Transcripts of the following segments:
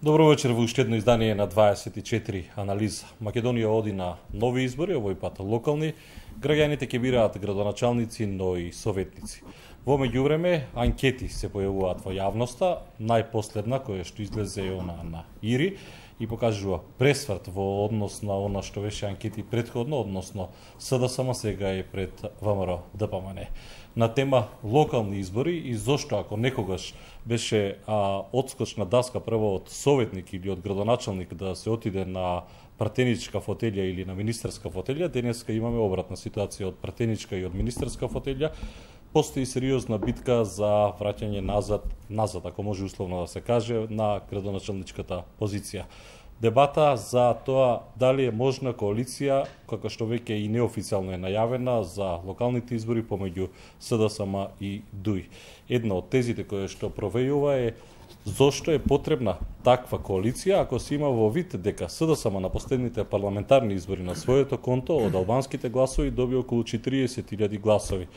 Добро вечер во уште едно издание на 24 анализа. Македонија оди на нови избори, овој пат локални. Граѓаните ќе бираат градоначалници, но и советници. Во меѓувреме, анкети се појавуваат во јавноста, најпоследна која што излезе она на Ири и покажува пресврт во однос на она што беше анкети претходно, односно СДСМ сега е пред ВМРО ДПМН. На тема локални избори и зошто ако некогаш беше одскочна даска прво од советник или од градоначалник да се отиде на пратеничка фотелја или на министерска фотелја, денеска имаме обратна ситуација од пратеничка и од министерска фотелја. Постои сериозна битка за враќање назад, ако може условно да се каже, на градоначалничката позиција. Дебата за тоа дали е можна коалиција, како што веќе и неофицијално е најавена за локалните избори помеѓу СДСМ и ДУИ. Една од тезите која што провејува е зошто е потребна таква коалиција ако се има во вид дека СДСМ на последните парламентарни избори на своето конто од албанските гласови доби околу 40.000 гласови.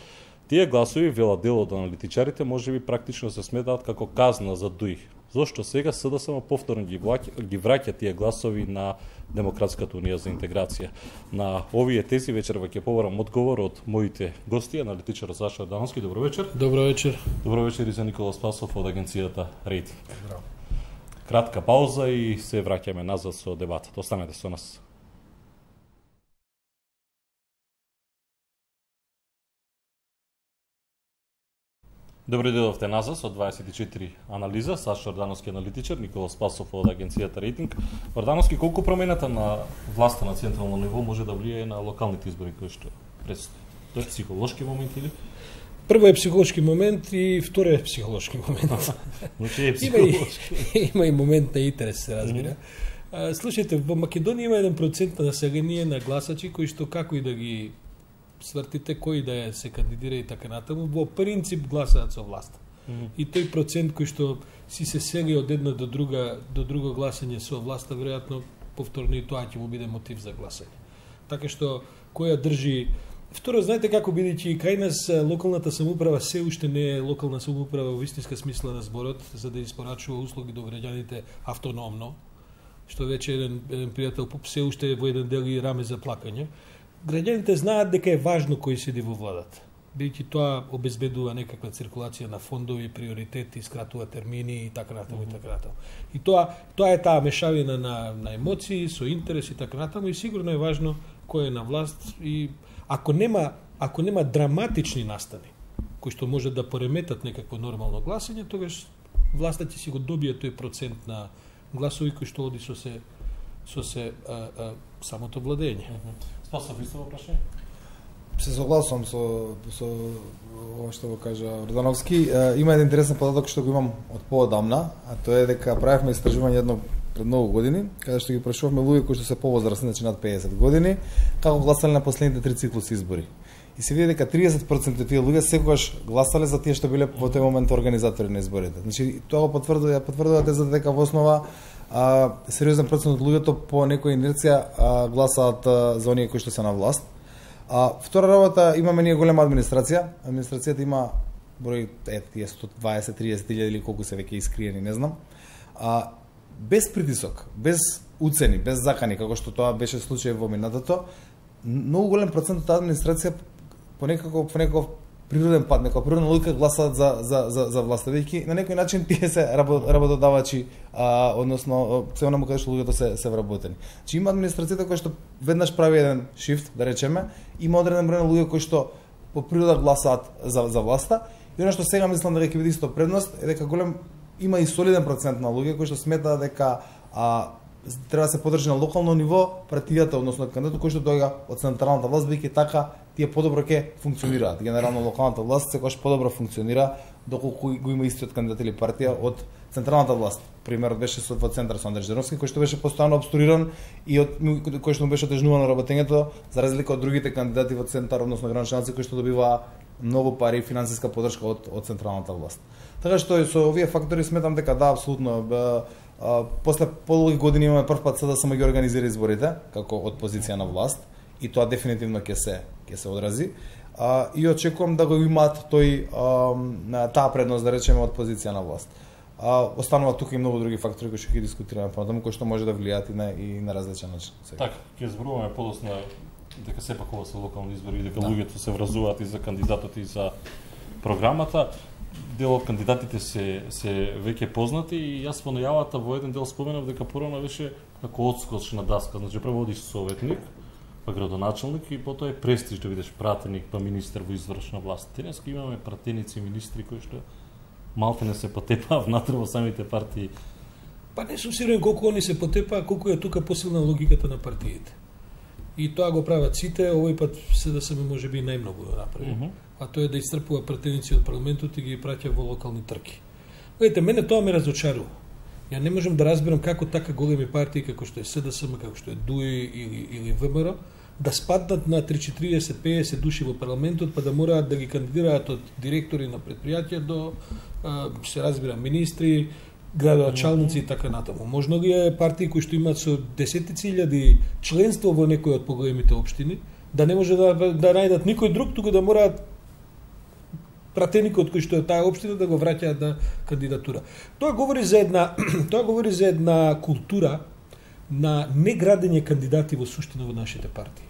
Тие гласови, велат дел од аналитичарите, можеби практично се сметаат како казна за ДУИ. Зошто сега СДСМ повторно ги враќа тие гласови на Демократската унија за интеграција? На овие тези вечерва ќе побарам одговор од моите гости, аналитичар Саша Ордановски. Добро вечер. Добро вечер. Добро вечер и за Никола Спасов од агенцијата Рейтинг. Здраво. Кратка пауза и се враќаме назад со дебатот. Останете со нас. Добро дојдовте назад со 24 анализа. Саша Ордановски аналитичар, Никола Спасов од агенцијата Рейтинг. Ордановски, колку промената на власта на централно ниво може да влијае на локалните избори кои што предстои? Тоа е психолошки момент или? Прво е психолошки момент и второ е психолошки момент. Значи е психолошки. Има и момент на интерес, се разбира. Слушайте, во Македонија има 1% население на гласачи кои што како и да ги свртите кој да се кандидира и така натаму, во принцип гласаат со власта. И тој процент кој што си се сели од една до друго гласање со власта, веројатно повторно и тоа ќе му биде мотив за гласање. Така што која држи. Второ, знаете како, бидејќи кај нас локалната самоуправа се уште не е локална самоуправа во истинска смисла на зборот, за да испорачува услуги до граѓаните автономно, што веќе еден пријател се уште во еден дел и раме за плакање. Граѓаните знаат дека е важно кој седи во владата, бидејќи тоа обезбедува некаква циркулација на фондови, приоритети, скратува термини и така натаму и така натаму. И тоа е таа мешавина на емоции, со интерес и така натаму, и сигурно е важно кој е на власт и ако нема драматични настани кои што може да пореметат некакво нормално гласање, тогаш власта ќе си го добие тој процент на гласови кои што оди со самото владење. Спасов, исто во прашање? Се согласувам со ова што го кажа Ордановски. Има еден интересен податок што го имам од поодамна, а тоа е дека правевме истражување едно пред многу години, каде што ги прашувавме луѓе кои што се повозрасни, значи над 50 години, како гласале на последните 3 циклуси избори. И се види дека 30% од тие луѓе секогаш гласале за тие што биле во тој момент организатори на изборите. Значи тоа го потврдува тезата дека во основа сериозен процент од луѓето по некоја инерција гласаат за оние кои што се на власт. Втора работа, имаме ние голема администрација. Администрацијата има број тие 120-30 илјади или колку се веќе искриени, не знам. Без притисок, без уцени, без закани, како што тоа беше случај во минатото, многу голем процент од администрација по некаков природен пат, некоја природна логика гласаат за власта, бидејќи на некој начин тие се работодавачи, односно се онаму каде што луѓето се вработени. Значи има администрацијата која што веднаш прави еден шифт, да речеме, има одреден број на луѓе кои што по природа гласаат за власта, и она што сега мислам дека ќе биде исто предност е дека има и солиден процент на луѓе кои што сметаат дека треба да се подржи на локално ниво партијата, односно кандидатот кој што доаѓа од централната власт, бидејќи така тие подобро ќе функционираат. Генерално локалната власт секогаш подобро функционира доколку го има истиот кандидат или партија од централната власт. Примерот беше во центар со Андрей Ждановски, кој што беше постојано обструиран и кој што му беше отежнувано работењето, за разлика од другите кандидати во центар, односно градоначалници кои што добиваа многу пари и финансиска поддршка од централната власт. Така што со овие фактори сметам дека да, апсолутно после подолги години имаме прв пат СДСМ ги организира изборите како од позиција на власт и тоа дефинитивно ќе се одрази. И очекувам да го имаат таа предност, да речеме, од позиција на власт. Останува тука и многу други фактори кои ќе ги дискутираме понатаму, кои што може да влијаат и на различен начин. Така, ќе зборуваме подосна дека сепак ова се локални избори и дека луѓето се вразуваат и за кандидатот и за програмата. Дел од кандидатите се веќе познати и јас во најавата во еден дел споменав дека порано беше како одскочна даска, значи прво одиш советник, па градоначелник и потоа е престиж да бидеш пратеник, па министер во извршна власт. Денеска имаме пратеници министри кои што малте не се потепаа внатре во самите партии. Па не сум сигурен колку они се потепаа, колку е тука посилна логиката на партиите. И тоа го прават сите, овој пат СДСМ можеби најмногу да направи. А тоа е да исцрпува пратеници од парламентот и ги праќа во локални трки. Видите, мене тоа ме разочарува. Ја не можам да разберам како така големи партии како што е СДСМ, како што е ДУИ или ВМРО да спаднат на 30-40-50 души во парламентот, па да мораат да ги кандидираат од директори на предпријатија до се разбира министри, градоначалници и така натаму. Можно ли е партии кои што имаат со десетици илјади членство во некој од поголемите општини, да не може да најдат никој друг, туку да мораат пратеникот кој што е таа општина да го враќаат на кандидатура. Тоа говори за една култура на неградење кандидати во суштина во нашите партии.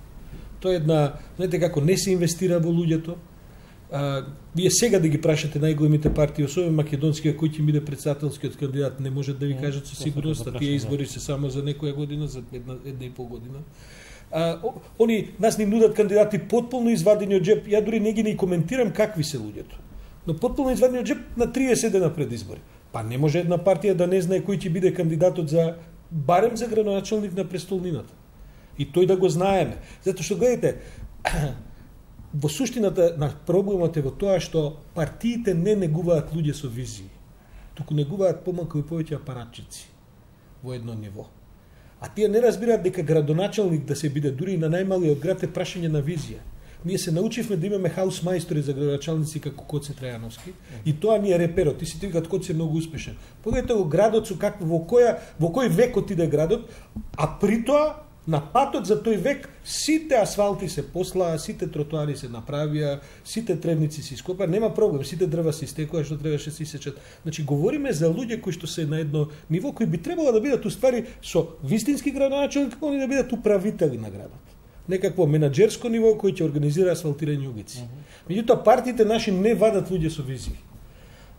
Тоа е една, знаете како не се инвестира во луѓето. Вие сега да ги прашате најголемите партии, особено македонскија, кој ќе биде претседателскиот кандидат, не можат да ви кажат со сигурност, а тие избори се само за некоја година, за една и пол година. Они нас ни нудат кандидати потполно извадени од джеп. Ја дури не ги не коментирам какви се луѓето. Но потполно извадени од джеп на 30 дена пред избори. Па не може една партија да не знае кој ќе биде кандидатот за барем за градоначелник на престолнината. И тој да го знаеме. Затоа што гледате, во суштината на проблемот е во тоа што партиите не негуваат луѓе со визии, туку негуваат помалку и повеќе апаратчици во едно ниво. А тие не разбираат дека градоначелник да се биде дури и на најмалиот град е прашање на визија. Ние се научивме да имаме хаус мајстори за градоначалници како Коце Трајановски и тоа ни е реперот. Ти си ти викат Коце е многу успешен. Погледнете го градот со какво во кој век отиде градот, а при тоа на патот за тој век сите асфалти се послаа, сите тротоари се направија, сите тревници се ископаа, нема проблем, сите дрва се истекоа што требаше се исечат. Значи говориме за луѓе кои што се на едно ниво кои би требало да бидат уствари со вистински градоначелник, они да бидат управители на градот. Некакво менаџерско ниво кој ќе организира асфалтирање улици. Меѓутоа партиите наши не вадат луѓе со визии.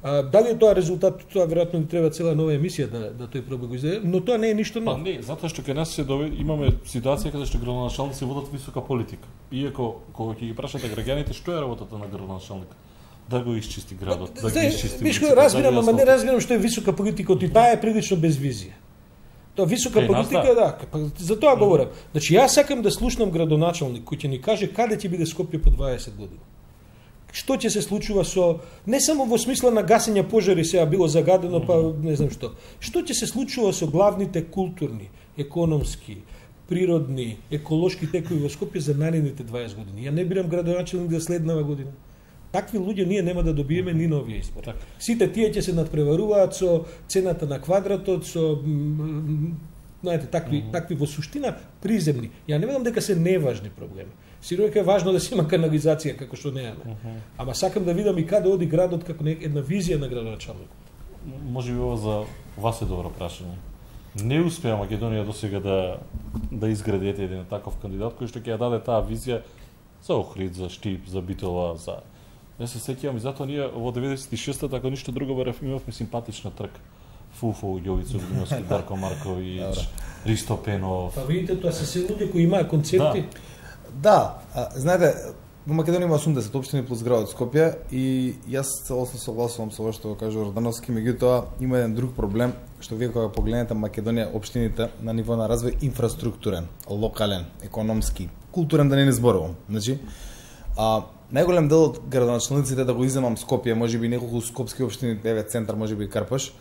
Дали е тоа резултат, тоа веројатно ни треба цела нова емисија да тој проблем го издаде, но тоа не е ништо ново. Па не, затоа што кај нас имаме ситуација каде што градоначалници водат висока политика. Иако кога ќе ги прашате граѓаните што е работата на градоначалникот, да го исчисти градот, да ги исчисти. Разбирам, ама не разбирам што е висока политика, и таа е прилично без визија. Тоа висока политика, да, за тоа говорам. Значи јас сакам да слушнам градоначалник кој ќе ни каже каде ќе биде Скопје по 20 години. Што ќе се случува со не само во смисла на гасење пожари сега било загадено, па не знам што. Што ќе се случува со главните културни, економски, природни, еколошки текови во Скопје за наредните 20 години? Ја не бирам градоначалник за следнава година. Такви луѓе ние нема да добиеме ни на овие избори. Сите тие ќе се надпреваруваат со цената на квадратот, со знаете, такви во суштина приземни. Ја не велам дека се неважни проблеми. Сигурно е важно да се има канализација како што немаме. Ама сакам да видам и каде оди градот како една визија на градоначалникот. Можеби ова за вас е добро прашање. Не успеа Македонија досега да изгради еден таков кандидат кој што ќе ја даде таа визија за Охрид, за Штип, за Битола, за не се сеќавам и затоа ние во 96-та така ништо друго имавме симпатична трка. Фуфо, Јовицо Глиновски, Дарко Марковиќ, Ристо Пенов. Па видите, тоа се се луѓе кои имаат концепти. Да, знаете, во Македонија има 80 општини плюс градот Скопје и јас целосно согласувам со ова што го кажа Ордановски, меѓутоа има еден друг проблем што вие кога погледнете Македонија општините на ниво на развој инфраструктурен, локален, економски, културен да не зборувам. Значи, најголем дел од градоначалниците да го иземам Скопје, можеби неколку скопски општини, еве центар, можеби Карпаш,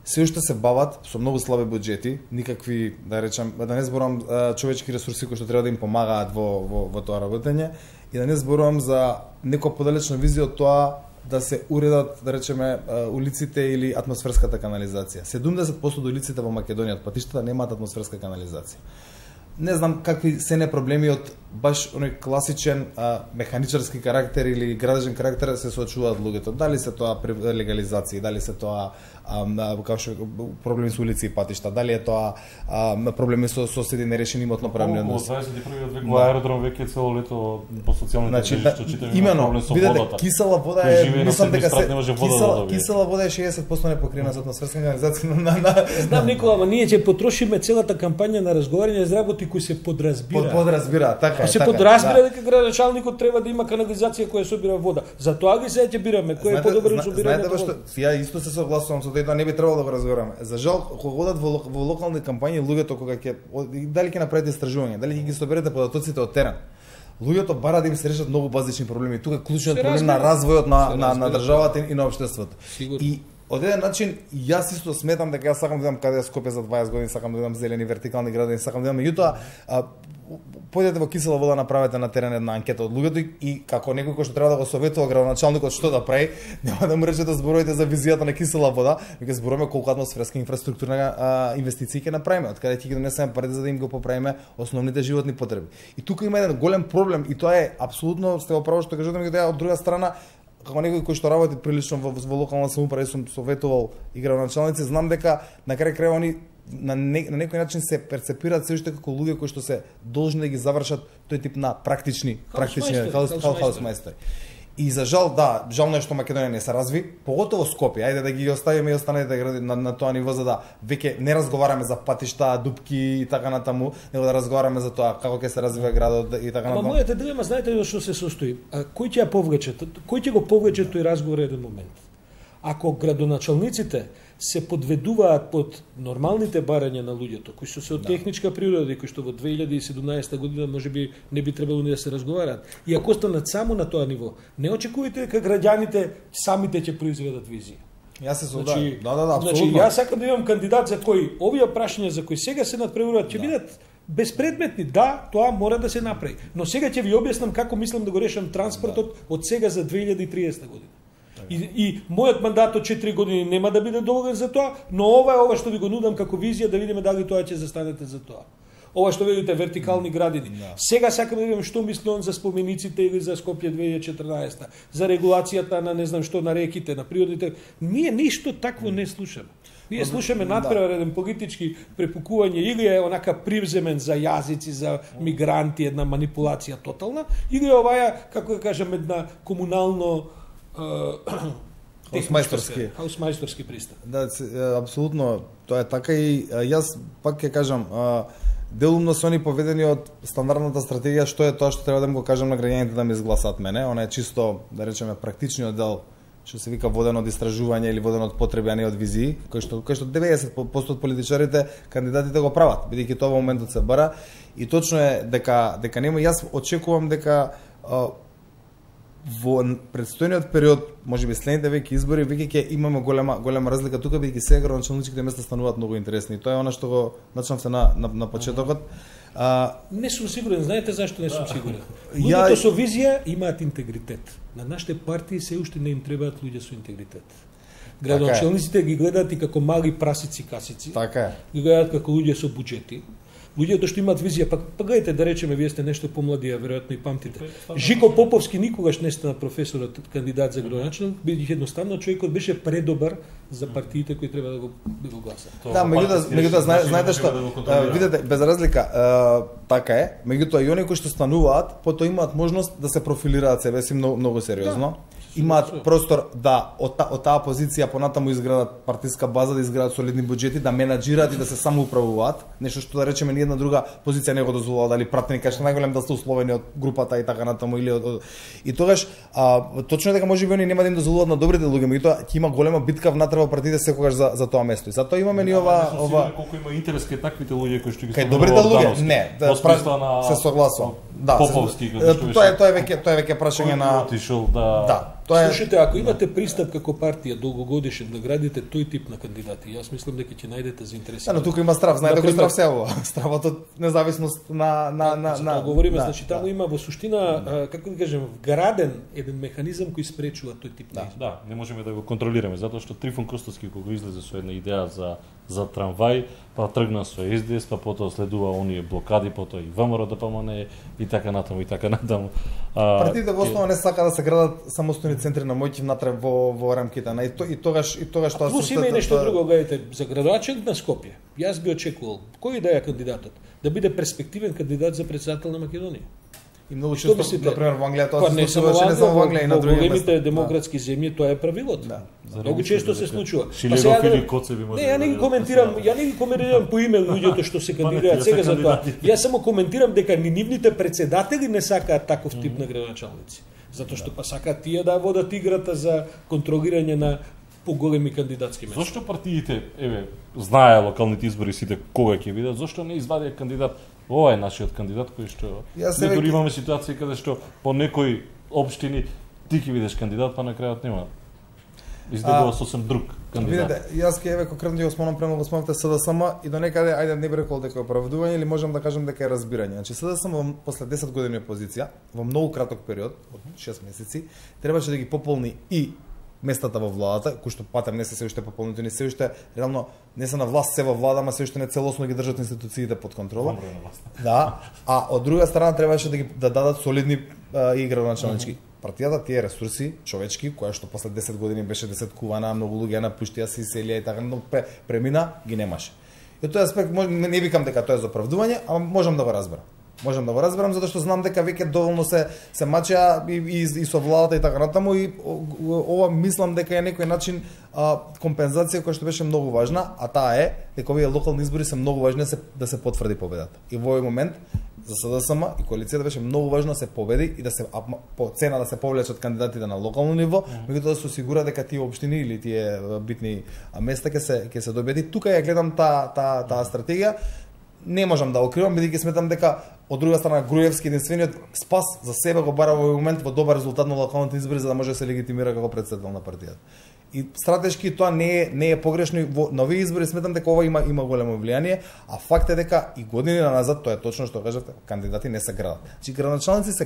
се уште се бават со многу слаби буџети, никакви, да речам, да не зборувам човечки ресурси кои што треба да им помагаат во тоа работење и да не зборувам за некоја подалечна визија од тоа да се уредат, да речеме, улиците или атмосферската канализација. 70% од улиците во Македонија од патиштата немаат атмосферска канализација. Не знам какви се не проблеми од баш оној класичен механичарски карактер или градежен карактер се соочуваат луѓето. Дали се тоа легализација, дали се тоа како што проблеми со улици и патишта, дали е тоа проблеми со соседи нерешени имотно-правни односи. Во 21 век во аеродром веќе цело лето по социјалните мрежи што читаме има проблем со водата. Кисела вода е, мислам дека кисела вода е 60% непокриена со атмосферска канализација Знам Никола, ама ние ќе потрошиме целата кампања на разговарање за работи кои се подразбира. Подразбира, така е. Се подразбира дека градоначалникот треба да има канализација која собира вода. Затоа ги се ќе бираме, кој е подобро за собирање на вода. Ја исто се согласувам со тоа, не би требало да го разговараме. За жал, кога одат во локални кампањи, луѓето кога ќе дали ќе направите истражување, дали ќе ги соберете податоците од терен. Луѓето бара да им се решат многу базични проблеми. Тука е клучниот проблем на развојот на државата и на општеството. И од еден начин, јас исто сметам дека јас сакам да идам каде Скопје за 20 години, сакам да идам зелени вертикални градини, сакам да идам, меѓутоа појдете во кисела вода, направете на терен една анкета од луѓето и како некој кој што треба да го советува градоначалникот што да прави, нема да му рече да зборувате за визијата на кисела вода, веќе зборуваме колку атмосферска инфраструктурна инвестиции ќе направиме, од каде ќе ги донесеме парите за да им го поправиме основните животни потреби. И тука има еден голем проблем и тоа е апсолутно сте во право што кажете, меѓутоа од друга страна како некој кој што работи прилично во локална самоуправа, сум советувал и градоначалници, знам дека на крај крајва они на некој начин се перцепираат се уште како луѓе кои што се должни да ги завршат тој тип на практични хаусмајстори. И за жал, да, жално е што Македонија не се разви, поготово Скопје. Ајде да ги оставиме и останалите гради на тоа ниво за да веќе не разговараме за патишта, дупки и така натаму, него да разговараме за тоа како ќе се развива градот и така натаму. Ама мојата дилема, знаете ли што се состои? Кој ќе ја повлече? Кој ќе го повлече тој разговор еден момент? Ако градоначалниците се подведуваат под нормалните барања на луѓето, кои што се од техничка природа и кои што во 2017 година можеби не би требало ни да се разговараат, и ако останат само на тоа ниво, не очекувате дека граѓаните самите ќе произведат визија. Јас се согласувам. Да, апсолутно. Значи, јас сакам да имам кандидат за кој овие прашања за кои сега се надпреваруваат ќе бидат безпредметни. Да, тоа мора да се направи. Но сега ќе ви објаснам како мислам да го решам транспортот од сега за 2030 година. И мојот мандат од 4 години нема да биде доволен за тоа, но ова што ви го нудам како визија да видиме дали тоа ќе застанете за тоа. Ова што видите вертикални градини. Сега сакам да видам што мисли он за спомениците или за Скопје 2014, за регулацијата на не знам што на реките, на природните. Ние ништо такво не слушаме. Ние слушаме надпревар еден политички препукување или е онака привземен за јазици, за мигранти, една манипулација тотална, или е оваја, како да кажам, една комунално хаусмајсторски пристап. Да, апсолутно, тоа е така и јас пак ќе кажам, делумно се они поведени од стандардната стратегија, што е тоа што треба да им го кажам на граѓаните да ме изгласаат мене, она е чисто, да речеме, практичниот дел, што се вика воден од истражување или воден од потреби, а не од визии, кој што 90% од политичарите, кандидатите го прават, бидејќи тоа во моментот се бара, и точно е дека нема, јас очекувам дека во предстојниот период, можеби следните веќе избори, веќе ќе имаме голема разлика тука, бидејќи сега градоначалничките места стануваат многу интересни. И тоа е она што го начнавте на почетокот. Не сум сигурен, знаете зашто не сум сигурен? Луѓето со визија имаат интегритет. На нашите партии се уште не им требаат луѓе со интегритет. Градоначалниците ги гледаат и како мали прасици касици. Така е. Ги гледаат како луѓе со буџети. Луѓето што имаат визија, па гледате да речеме, вие сте нешто помладија, веројатно и памтите. Жико Поповски никогаш не стана професорот кандидат за градоначалник, бидејќи едноставно човекот беше предобар за партиите кои треба да го гласат. Да, меѓутоа знаете што, видите, без разлика, така е, меѓутоа и оние кои што стануваат, потоа имаат можност да се профилираат себе си многу сериозно. Имаат простор да од таа позиција понатаму изградат партиска база, да изградат солидни буџети, да менаџираат и да се самоуправуваат, нешто што да речеме ни една друга позиција не го дозволува, дали пратеник кај што најголем да сте условени од групата и така натаму или и тогаш точно дека можеби они нема да им дозволуваат на добрите луѓе, меѓутоа ќе има голема битка внатре во партиите секогаш за тоа место. И затоа имаме ни ова колку има интерес кај таквите луѓе кои што ги кај добрите луѓе, не, се согласувам. Да, Поповски, тоа е веќе прашање на Слушайте, ако имате пристап како партија долгогодишен да градите тој тип на кандидати, јас мислам дека ќе најдете заинтересирани. Но тука има страв, знаете кој страв се ова? Стравот од независност на говориме, значи таму има во суштина, како да кажем, вграден еден механизам кој спречува тој тип на избор. Да, не можеме да го контролираме затоа што Трифон Костовски кога излезе со една идеја за трамвај, па тргна со СДС, па потоа следува оние блокади, потоа и ВМРО ДПМН и така натаму и така натаму. Партиите во основа не сака да се градат самостојни центри на моќ внатре во рамките на и тогаш тоа плюс има и нешто друго, гледате, за градоначелник на Скопје. Јас би очекувал кој да е кандидатот, да биде перспективен кандидат за председател на Македонија. И многу често, на пример, во Англија тоа не се случува, не само во Англија и на други места. Во големите демократски земји тоа е правилото. Да. Многу често се случува. Шилегов или Коцеви може. Не, ја не ги коментирам по име луѓето што се кандидираат сега за тоа. Јас само коментирам дека ни нивните председатели не сакаат таков тип на градоначалници. Затоа што па сакаат тие да водат играта за контролирање на поголеми кандидатски места. Зошто партиите, знае локалните избори сите кога ќе бидат, зошто не извадија кандидат? Ова е нашиот кандидат кој што ние дури имаме ситуација каде што по некои општини ти ќе бидеш кандидат, па на крајот нема. Издебува сосем друг кандидат. Видете, јас ќе конкретно ја спомнам према во спомнате СДСМ и до некаде ајде не би рекол дека е оправдување или можам да кажам дека е разбирање. Значи СДСМ после 10 години опозиција, во многу краток период, од 6 месеци, требаше да ги пополни и местата во владата, кои што патем не се уште пополнетени, се уште реално не се на власт, се во влада, ама се уште не целосно ги држат институциите под контрола. Да, а од друга страна требаше да дадат солидни и градоначалнички. Партијата тие ресурси човечки, која што после 10 години беше десеткувана, многу луѓе напуштија се иселија и така, но премина ги немаше. И тој аспект не викам дека тоа е за оправдување, ама можам да го разберам. Можам да го разберам затоа што знам дека веќе доволно се мачеа и со владата и така натаму и ова мислам дека е некој начин компензација која што беше многу важна, а таа е дека овие локални избори се многу важни да се потврди победата. И во овој момент за СДСМ и коалицијата беше многу важно да се победи и да се по цена да се повлечат кандидатите на локално ниво, меѓутоа да се осигура дека тие општини или тие битни места ќе се добеди. Тука ја гледам таа стратегија. Не можам да окривам, бидејќи сметам дека од друга страна Груевски единствениот спас за себе го бара во овој момент во добар резултат на локалните избори за да може да се легитимира како претседател на партијата. И стратешки тоа не е погрешно, на овие избори сметам дека ова има големо влијание, а факт е дека и години назад, тоа е точно што кажавте, кандидати не се градат. Значи градоначалници се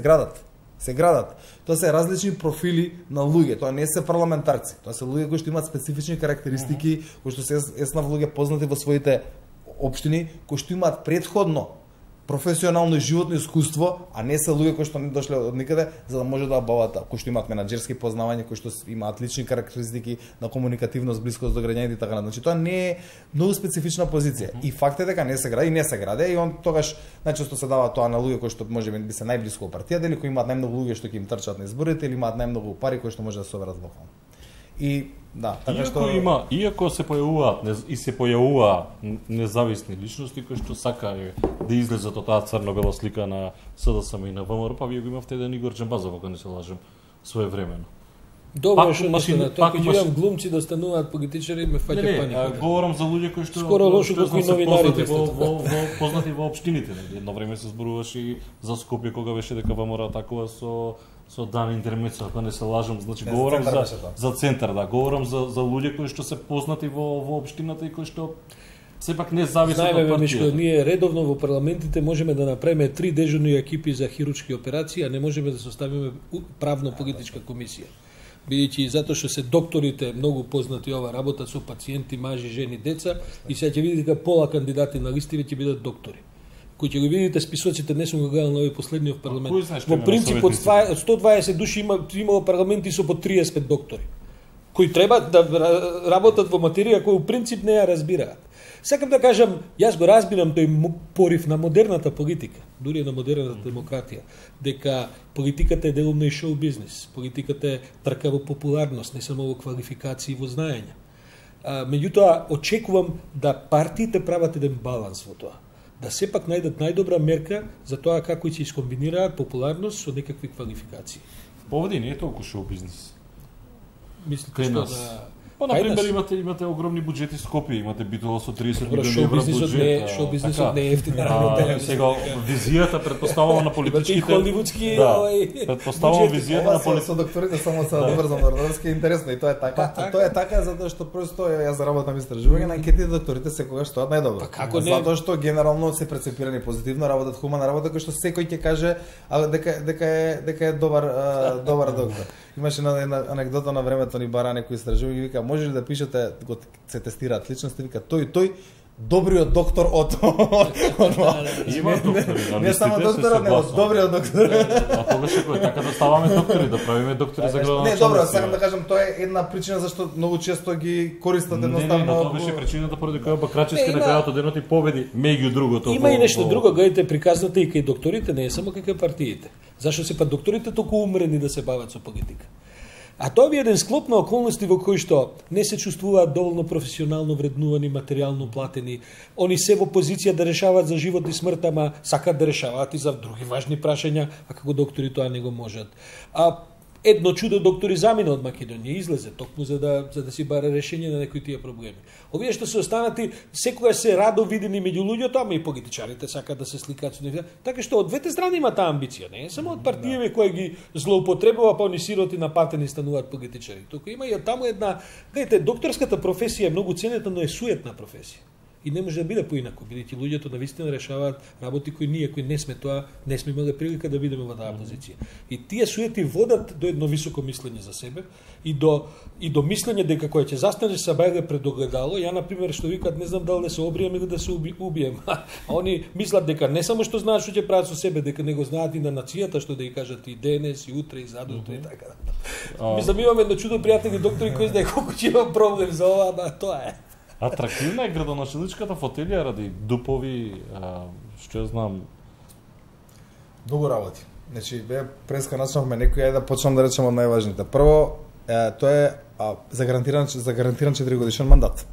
градат. Тоа се различни профили на луѓе, тоа не се парламентарци, тоа се луѓе кои што имаат специфични карактеристики, кои што се еснав луѓе познати во своите општини, кои што имаат претходно професионално и животно искуство, а не се луѓе кои што не дошле од никаде за да може да обават, кои што имаат менаџерски познавања, кои што имаат лични карактеристики на комуникативност, блискост до граѓаните и така натаму. Значи тоа не е многу специфична позиција. И факт е дека не се гради и он тогаш најчесто се дава тоа на луѓе кои што можеби би се најблиску од партијата или кои имаат најмногу луѓе што ќе им трчат на изборите или имаат најмногу пари кои што може да се соберат локално. И да, така што иако се појавуваат независни личности кои што сакаат да излезат од таа црно-бела слика на СДСМ и на ВМРО, па вие го имавте еден Игор Џамбазов, ако не се лажем, своевремено. Добро што тоа кога видам глумци да стануваат политичари ме фаќа паника. Говорам за луѓе кои што скоро лошо како и новинарите познати во општините. Едно време се зборуваше и за Скопје кога беше дека ВМРО атакува со Дан Интермецо, ако не се лажам, значи говорам за центар, да, говорам за луѓе кои што се познати во општината и кои што сепак не зависат од партијата. Што ние редовно во парламентите можеме да направиме 3 дежурни екипи за хируршки операции, а не можеме да составиме правно-политичка комисија. Бидејќи затоа што се докторите многу познати ова работа со пациенти, мажи, жени, деца и сега ќе видите дека пола кандидати на листиве ќе бидат доктори. Кои ќе го видите списоците, не сум го гледал на овој последниот парламент. Во принцип од 120 души имало парламенти со по 35 доктори, кои треба да работат во материја која во принцип не ја разбираат. Сакам да кажам, јас го разбирам тој порив на модерната политика, дури на модерната демократија, дека политиката е делумно и шоу бизнес, политиката е трка во популарност, не само во квалификации и во знаење. Меѓутоа, очекувам да партиите прават еден баланс во тоа, да сепак најдат најдобра мерка за тоа како ќе искомбинираат популарност со некакви квалификации. Овде не е толку шоу бизнес. Мислите што да... Па, например, имате огромни буџети Скопје, имате Битола со 30 милиони евра буџет. Шоу бизнесот не е ефтин работа. Сега визијата претпоставувам на политичките. Имате и холивудски претпоставувам визијата на политичките. Со докторите само се добрзам врварски интересно и тоа е така. Тоа е така затоа што просто јас работам истражување на анкетите, докторите секогаш стоат најдобро. Па како не? Затоа што генерално се прецепирани позитивно, работат хумана работа кој што секој ќе каже дека е добар доктор. Имаше една анекдота на времето ни бара некој истражување и вика можеш ли да пишете, се тестираат личности, вика тој добриот доктор од Има доктори, не само докторот, него добриот доктор. А тогаш кој така да ставаме доктори, да правиме доктори за градоначалници. Не, добро, сакам да кажам, тоа е една причина зашто многу често ги користат едноставно. Не, тоа беше причината поради која Бакрачевски на крајот од денот и победи меѓу другото. Има и нешто друго, гледате, приказната и кај докторите не е само кај партиите. Зашто се па докторите толку умрени да се бават со политика? А тоа би еден склоп на околности во кои што не се чувствуваат доволно професионално вреднувани, материјално платени. Они се во позиција да решаваат за живот и смрт, ама сакаат да решаваат и за други важни прашања, а како доктори тоа не го можат. Едно чудо доктори замина од Македонија, излезе токму за да си баре решение на некои тие проблеми. Овие што се останати секогаш се радо видени меѓу луѓето, ама и политичарите сакаат да се сликаат со нив. Така што од двете страни има таа амбиција, не е само од партијеве кои ги злоупотребува, па они сироти напатени стануваат политичари. Туку има и таму една, гледате, докторската професија е многу ценета, но е суетна професија. И не може да биде поинаку, бидејќи луѓето навистина решаваат работи кои ние кои не сме тоа, не сме имале прилика да бидеме во таа позиција. И тие суети водат до едно високо мислење за себе и до мислење дека кој ќе застанеш са бајле пред огледало, ја на пример што викаат не знам дали да се обријам или да се убием. А они мислат дека не само што знаат што ќе прават со себе, дека него знаат и на нацијата што да ја кажат и денес и утре и задутре и така. Мислам имаме едно чудо пријатели доктори кои знаат колку ќе има проблем за ова, да тоа е. Атрактивна е градоначалничката фотелија ради дупови, што ја знам. Многу работи. Значи, преска начнавме некој, да почнам да речем од најважните. Прво, тоа е за гарантиран 4 годишен мандат.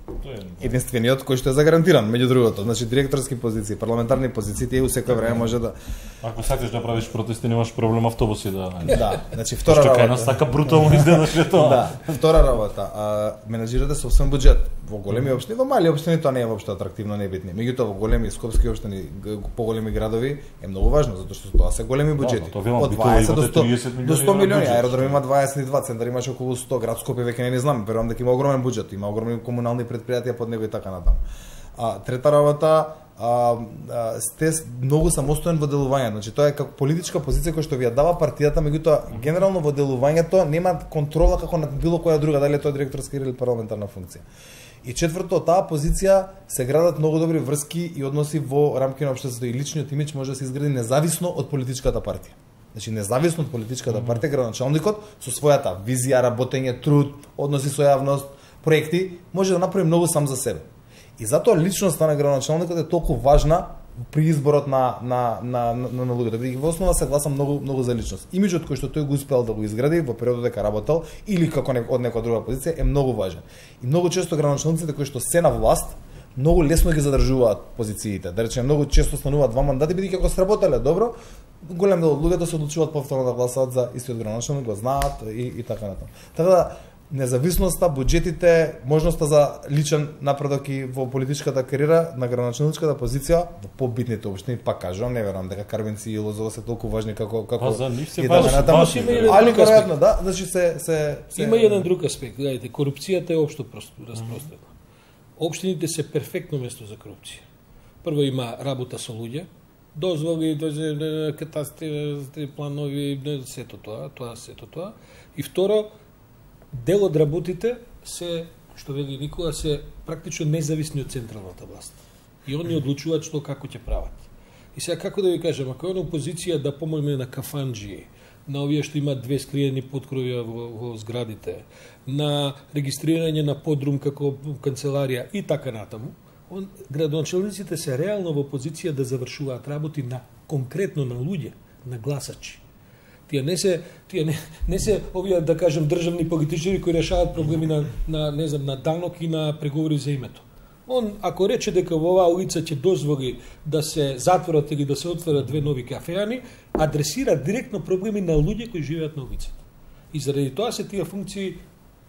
Единствениот кој што е загарантиран, меѓу другото. Значи, директорски позиции, парламентарни позиции, тие у секој време може да... Ако сакаш да правиш протести, немаш проблем автобуси да... Да, значи втора работа... Што кај нас така брутално изгледаше тоа. Да, втора работа. Менеджирате собствен буџет. Во големи општини, во мали општини тоа не е воопшто атрактивно, не е битно. Меѓутоа во големи скопски општини, поголеми градови е многу важно, затоа што тоа се големи буџети. Од 20 до 100 милиони, аеродром има 22, центар имаше околу 100, град Скопје веќе не знам, верувам дека има огромен буџет, има огромни комунални предпријатија под него и така натаму. Трета работа, сте многу самостоен во делување, значи тоа е како политичка позиција која што ви ја дава партијата, меѓутоа генерално во делувањето нема контрола како на било која друга, дали е тоа директорска или парламентарна функција. И четврто, таа позиција се градат многу добри врски и односи во рамки на општеството и личниот имидж може да се изгради независно од политичката партија. Значи независно од политичката партија, градоначалникот со својата визија, работење, труд, односи со јавност, проекти може да направи многу сам за себе. И затоа личноста на градоначалникот е толку важна при изборот на луѓето. Бидејќи во основа се гласа многу за личност. Имиџот кој што тој го успел да го изгради во периодот дека работел или како од некоја друга позиција е многу важен. И многу често градоначалниците кои што се на власт многу лесно ги задржуваат позициите. Да речеме, многу често стануваат 2 мандати бидејќи ако сработеле добро, голем дел од луѓето се одлучуваат повторно да гласаат за истиот градоначалник, го знаат и така натаму. Така да независноста, буџетите, можноста за личен напредок и во политичката кариера на градоначалничката позиција во побитните општини, пак кажувам, не верувам дека Карвинци и Лозово се толку важни како за нив се важни. Али веројатно да, значи се има еден друг аспект, гледайте, корупцијата е општо распространета. Општините се перфектно место за корупција. Прво има работа со луѓе, дозволи, катастри, планови, сето тоа. И второ, дел од работите се, што вели Никола, се практично независни од централната власт. И они одлучуваат што како ќе прават. И сега како да ви кажам, ако е на опозиција да помогне на кафанџии, на овие што имаат 2 скриени поткровија во зградите, на регистрирање на подрум како канцеларија и така натаму, градоначалниците се реално во позиција да завршуваат работи на конкретно на луѓе, на гласачи. Тие не се овие, да кажем, државни политичари кои решаваат проблеми на данок и на преговори за името. Он, ако рече дека во оваа улица ќе дозволи да се затворат или да се отворат 2 нови кафеани, адресира директно проблеми на луѓе кои живеат на улицата. И заради тоа се тие функции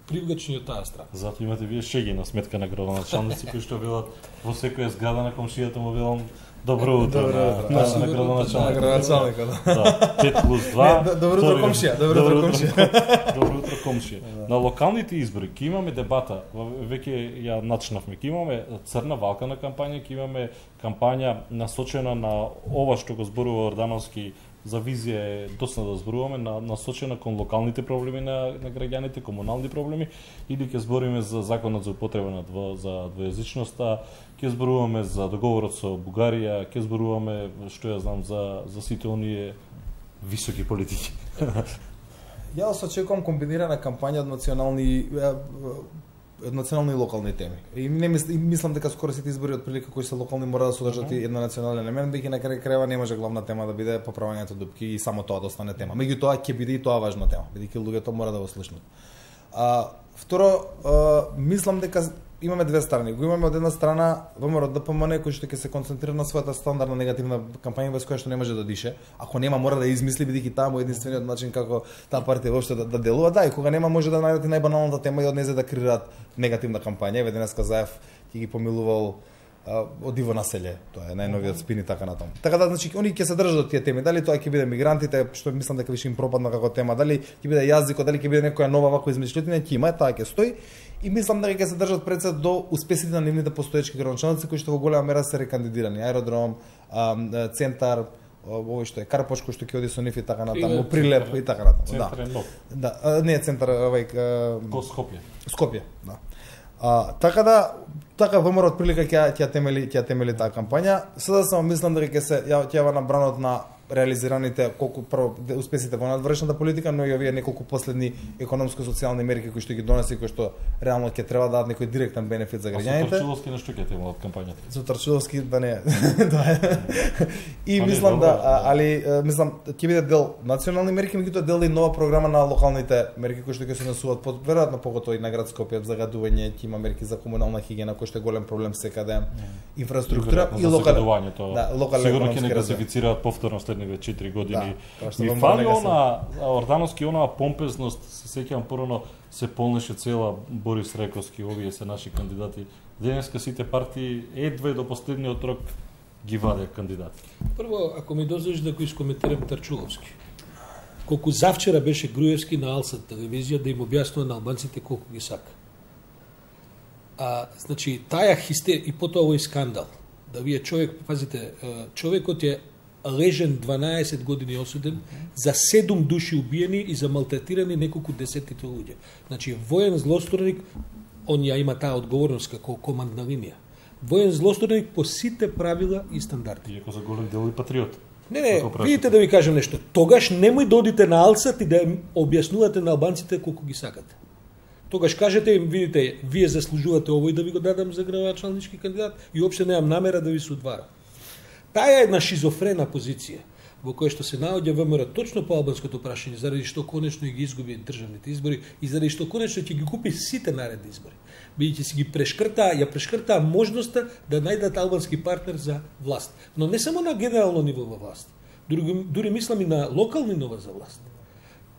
привлечни од таа страна. Затоа имате вие шеги на сметка на градоначалници кои што велат во секоја зграда на комшијата му велам добро утро на градоначалникот. Да, 5+2. Добро утро комшија, добро утро комшија. На локалните избори ќе имаме дебата, веќе ја начнавме, ќе имаме црна валкана кампања, ќе имаме кампања насочена на ова што го зборува Ордановски за визија е доста да зборуваме насочена кон локалните проблеми на граѓаните, комунални проблеми, или ќе збориме за законот за употреба за двојазичноста, ќе зборуваме за договорот со Бугарија, ќе зборуваме, што ја знам, за сите оние високи политики. Јас очекувам комбинирана кампања од национални и локални теми. И мислам дека скоро сите избори од прилика кои се локални мора да содржат и една национален елемент, бидејќи на крај крајва не може главна тема да биде поправањето дупки и само тоа да остане тема. Меѓутоа ќе биде и тоа важна тема, бидејќи луѓето мора да го слушнат. Второ, мислам дека имаме две страни. Го имаме од една страна ВМРО ДПМН кој што ќе се концентрира на својата стандардна негативна кампања без која што не може да дише. Ако нема мора да измисли, бидејќи таа му единствениот начин како таа партија воопшто да делува. Да, и кога нема може да најдат најбаналната тема и од незе да креираат негативна кампања. Еве денеска Заев ќе ги помилувал од Иво Населје, тоа е најновиот спин и така натаму. Така да, значи, они ќе се држат од тие теми. Дали тоа ќе биде мигрантите, што мислам дека више им пропадна како тема, дали ќе биде јазикот, дали ќе биде некоја нова ваква измишлетина, ќе има, таа ќе стои. И мислам дека ќе се држат пред се до успесите на нивните постоечки градоначалници кои што во голема мера се рекандидирани. Аеродром, центар, овој што е Карпош кој што ќе оди со нив и така натаму, Прилеп и така натаму. Центар е нов. Да, не е центар, Скопје. Скопје, да. Така ВМРО од прилика ќе темели таа кампања. Сега само мислам дека ќе се јава на бранот на реализираните колку прво успесите во надвршната политика, но и овие неколку последни економско-социјални мерки кои што ги донеси, кои што реално ќе треба да дадат некој директен бенефит за граѓаните. А со Тарчиловски на што ќе темела од кампањата? Со Тарчиловски да не. И мислам мислам ќе биде дел национални мерки, меѓутоа дел и нова програма на локалните мерки кои што ќе се носуваат под веројатно поготоа и на град Скопје, загадување, ќе има мерки за комунална хигиена кој што е голем проблем секаде, инфраструктура и локален. Сигурно ќе не класифицираат повторно следните 4 години. Ми фали Ордановски онаа помпезност, се сеќавам порано се полнеше цела Борис Рековски, овие се наши кандидати. Денеска сите партии едва до последниот рок ги ваде кандидати. Прво, ако ми дозволиш да го искоментирам Тарчуловски. Колку завчера беше Груевски на Алсат телевизија да им објаснува на албанците колку ги сака. Значи, таа хистерија и потоа овој скандал. Да вие човек, пазите, човекот е лежен 12 години осуден за 7 души убиени и за малтретирани неколку десетки луѓе. Значи, воен злосторник, он ја има таа одговорност како командна линија. Воен злосторник по сите правила и стандарди. Иако за голем дел и патриот. Не, видите да ви кажам нешто. Тогаш немој да одите на Алсат и да објаснувате на албанците колку ги сакате. Тогаш кажете им, видите, вие заслужувате овој да ви го дадам за градоначалнички кандидат и уопште немам намера да ви се удварам. Таа е една шизофрена позиција во која што се наоѓа ВМРО точно по албанското прашање, заради што конечно и ги изгуби државните избори и заради што конечно ќе ги купи сите наредни избори. Бидејќи си ги прешкртаа можноста да најдат албански партнер за власт. Но не само на генерално ниво во власт. Дури мислам и на локални ниво за власт.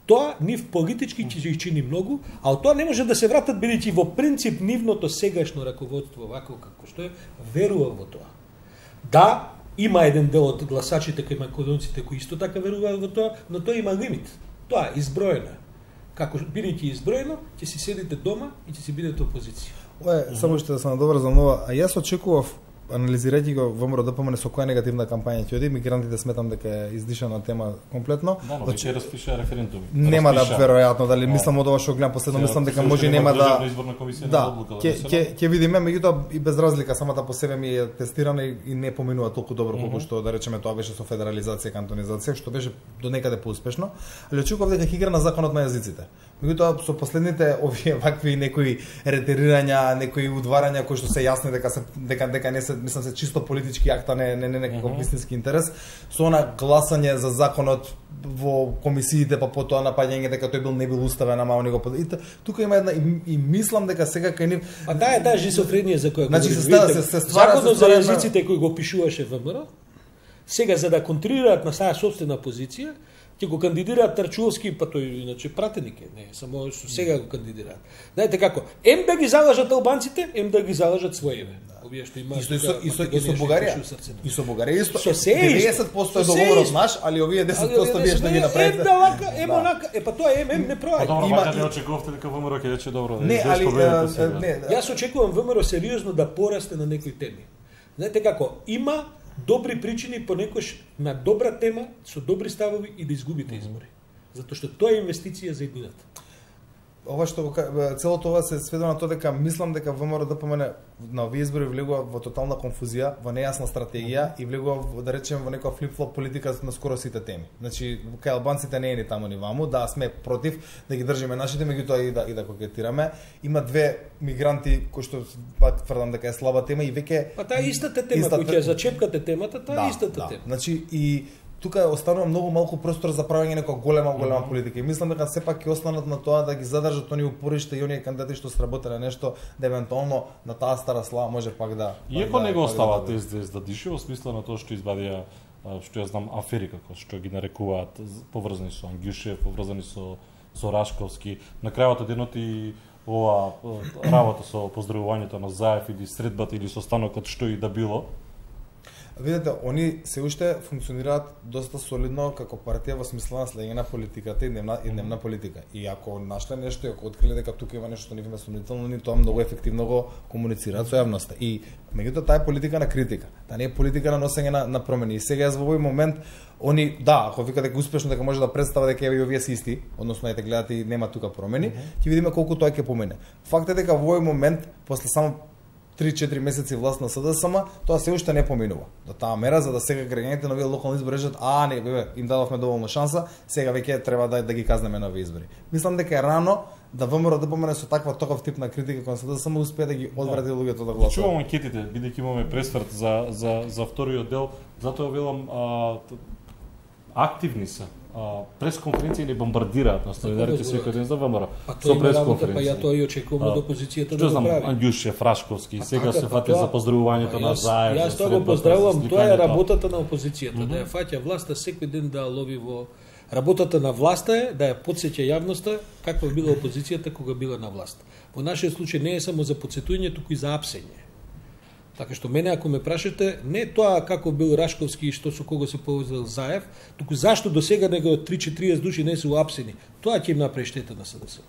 Тоа нив политички ќе ги чини многу, а од тоа не може да се вратат бидејќи во принцип нивното сегашно раководство вако како што е верува во тоа. Да, има еден дел од гласачите кај македонците кои исто така веруваат во тоа, но тоа има лимит. Тоа е изброено. Како бидејќи изброено, ќе си седите дома и ќе си бидете опозиција. Ое, само што да се надоврзам нова, а јас очекував анализирајќи го ВМРО ДПМН со која негативна кампања ќе оди, мигрантите сметам дека е издишана тема комплетно. Да, но ќе распиша референдуми. Нема да веројатно, дали мислам од ова што гледам последно, мислам дека може нема да ќе видиме, меѓутоа и без разлика самата по себе ми е тестирана и не поминува толку добро колку што да речеме тоа беше со федерализација, кантонизација, што беше до некаде поуспешно, али очекував дека ќе игра на законот на јазиците. Меѓутоа со последните овие вакви некои ретерирања, некои удварања кои што се јасни дека не се, мислам се чисто политички акта, не некаков вистински интерес, со она гласање за законот во комисиите, па потоа напаѓање дека тој не бил уставен, ама они го тука има една и мислам дека сега кај нив таа е таа шизофренија за која значи се ствара законот за јазиците кој го пишуваше ВМРО, сега за да контролираат на своја собствена позиција, ќе го кандидираат Тарчуловски, па тој иначе пратеник е, не само сега го кандидираат. Знаете како, ем да ги залажат албанците, ем да ги залажат своеве. Овие што имаат и со Бугарија. И со Бугарија исто. 90% е договорот наш, али овие 10% вие што ги направите. Онака, па тоа не проаѓа. Има не очекувавте дека ВМРО ќе рече добро. Не, али не. Јас очекувам ВМРО сериозно да порасте на некои теми. Знаете како, има добри причини понекогаш на добра тема со добри ставови и да изгубите избори. Затоа што тоа е инвестиција за иднината. Ова што целото ова се сведува на тоа дека мислам дека ВМРО ДПМН на овие избори влегува во тотална конфузија, во нејасна стратегија и влегува, да речеме, во некоја флип-флоп политика на скоро сите теми. Значи, кај албанците не е ни таму ни ваму, да сме против да ги држиме нашите, меѓутоа и да кокетираме. Има две мигранти кои што пак тврдам дека е слаба тема и веќе Па таа истата тема кој ќе зачепкате темата, таа истата тема. Значи и тука останува многу малку простор за правење некоја голема политика. И мислам дека сепак ќе останат на тоа да ги задржат оние упоришта и оние кандидати што сработеле нешто, да евентуално на таа стара слава може пак да. Иако не го оставаат СДС да дише, во смисла на тоа што избадија, што ја знам, афери како што ги нарекуваат, поврзани со Ангјушев, поврзани со Рашковски. На крајот од едното и ова работа со поздравувањето на Заев или средбата или состанокот што и да било. Видете, они се уште функционираат доста солидно како партија во смисла на следење на политиката и дневна политика. И ако нашле нешто, ако откриле дека тука има нешто што нив е сомнително, ни тоа многу ефективно го комуницираат со јавноста. И меѓутоа таа е политика на критика. Таа не е политика на носење на промени. И сега во овој момент они ако викат дека успешно дека може да представа дека еве и овие се исти, односно ете гледате и нема тука промени, ќе видиме колку тоа ќе помине. Факт е дека во овој момент после само 3-4 месеци власт на СДСМ, тоа се уште не поминува. До таа мера за да сега граѓаните на овие локални избори речат, не, им дадовме доволно шанса, сега веќе треба да ги казнеме на овие избори. Мислам дека е рано да ВМРО да помине со таков тип на критика кон СДСМ успее да ги одврати луѓето да гласуваат. Чувам анкетите, бидејќи имаме пресврт за вториот дел, затоа велам активни се. Пресконференција или бомбардираат на стандарите секој ден за ВМРО. Со пресконференција. Па ја тоа и очекувам од опозицијата да го прави. Ангјушев, Рашковски, сега се фати за поздравувањето на Заев. Јас тоа го поздравувам, тоа е работата на опозицијата, да ја фаќа власта секој ден да лови во работата на власта е да ја потсеќа јавноста каква била опозицијата кога била на власт. Во нашиот случај не е само за потсетување, туку и за апсење. Така што мене ако ме прашате, не тоа како бил Рашковски и што со кого се повезал Заев, туку зашто до сега него 30-40 души не се уапсени. Тоа ќе им направи штета на СДС.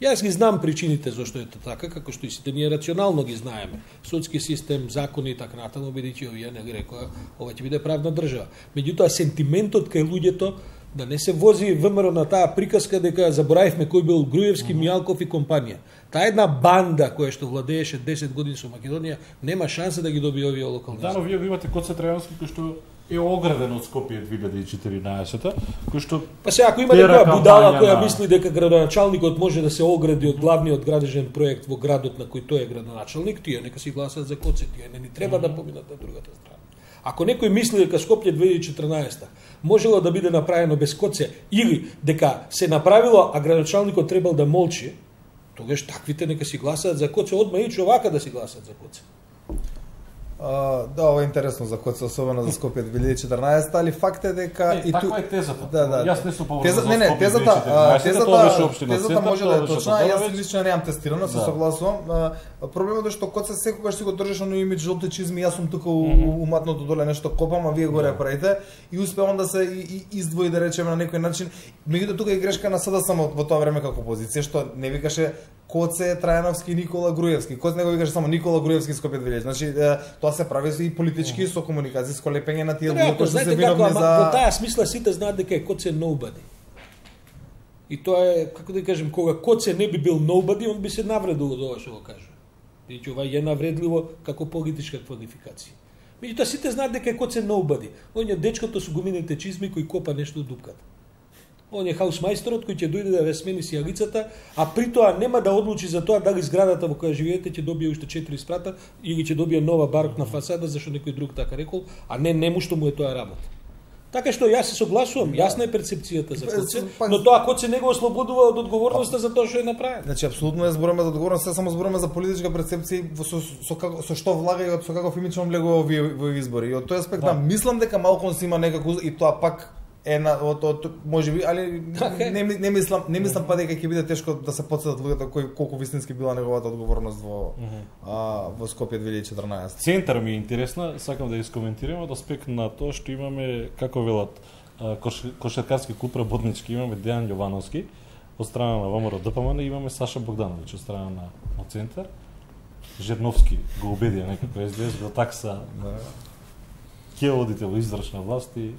Јас ги знам причините зашто е така, како што и сите ние рационално ги знаеме. Судски систем, закони и така натаму, бидејќи овие не рекоа, ова ќе биде правна држава. Меѓутоа сентиментот кај луѓето да не се вози ВМРО на таа приказка дека заборавивме кој бил Груевски, Мијалков и компанија. Таа една банда која што владееше 10 години со Македонија нема шанса да ги добие овие локални. Да, но вие имате Коце Трајански кој што е ограден од Скопје 2014-та, кој што па се ако има некоја будала која мисли дека градоначалникот може да се огради од главниот градежен проект во градот на кој тој е градоначалник, тие нека си гласат за Коце, тие не треба да поминат на другата страна. Ако некој мисли дека Скопје 2014 можело да биде направено без Коце или дека се направило, а градоначалникот требал да молчи, тогаш таквите нека си гласаат за Коце, одма и човака да си гласаат за Коце. Да, ова е интересно за Коце, особено за Скопје 2014, али факт е дека и таква е тезата. Да. Јас не сум поврзан за Скопје 2014. Тезата може да е точна, јас лично немам тестирано, се согласувам. Проблемот е што Коце секогаш си го држиш оној имидж жолти чизми, јас сум тука уматното доле нешто копам, а вие горе правите и успевам да се издвои, да речеме, на некој начин. Меѓутоа тука е грешка на СДСМ во тоа време како опозиција, што не викаше Коце Трајановски, Никола Груевски. Коце не го викаше само Никола Груевски Скопје 2000. Значи тоа се прави и политички со комуникацијско лепење на тие луѓе кои се виновни за. Во таа смисла сите знаат дека е Коце nobody. И тоа е, како да кажем, кога Коце не би бил nobody, он би се навредил од ова што го кажа. Бидејќи ова е навредливо како политичка квалификација. Меѓутоа сите знаат дека е Коце nobody. Он е дечкото со гумините чизми кој копа нешто од дупката. Он е хаусмајсторот кој ќе дојде да ве смени сијалицата, а при тоа нема да одлучи за тоа дали зградата во која живеете ќе добие уште 4 спрата или ќе добие нова барокна фасада зашто некој друг така рекол, а не нему што му е тоа работа. Така што јас се согласувам, јасна е перцепцијата за Коце, но тоа Коце не го ослободува од одговорноста за тоа што е направено. Значи апсолутно е зборуваме за одговорност, само зборуваме за политичка перцепција со што влага и со каков имидж влегува во избори. И од тој аспект мислам дека малку си има некако и тоа пак можеби, али не мислам па дека ќе биде тешко да се потсетат луѓето колку вистински била неговата одговорност во Скопје 2014. Центар ми е интересна, сакам да искоментирам од аспект на тоа што имаме, како велат, кошаркарски клуб работнички, имаме Дејан Јовановски од страна на ВМРО ДПМН и имаме Саша Богдановиќ од страна на Центар. Жерновски го убедија некако СДС го такса ќе одите во издржна власт и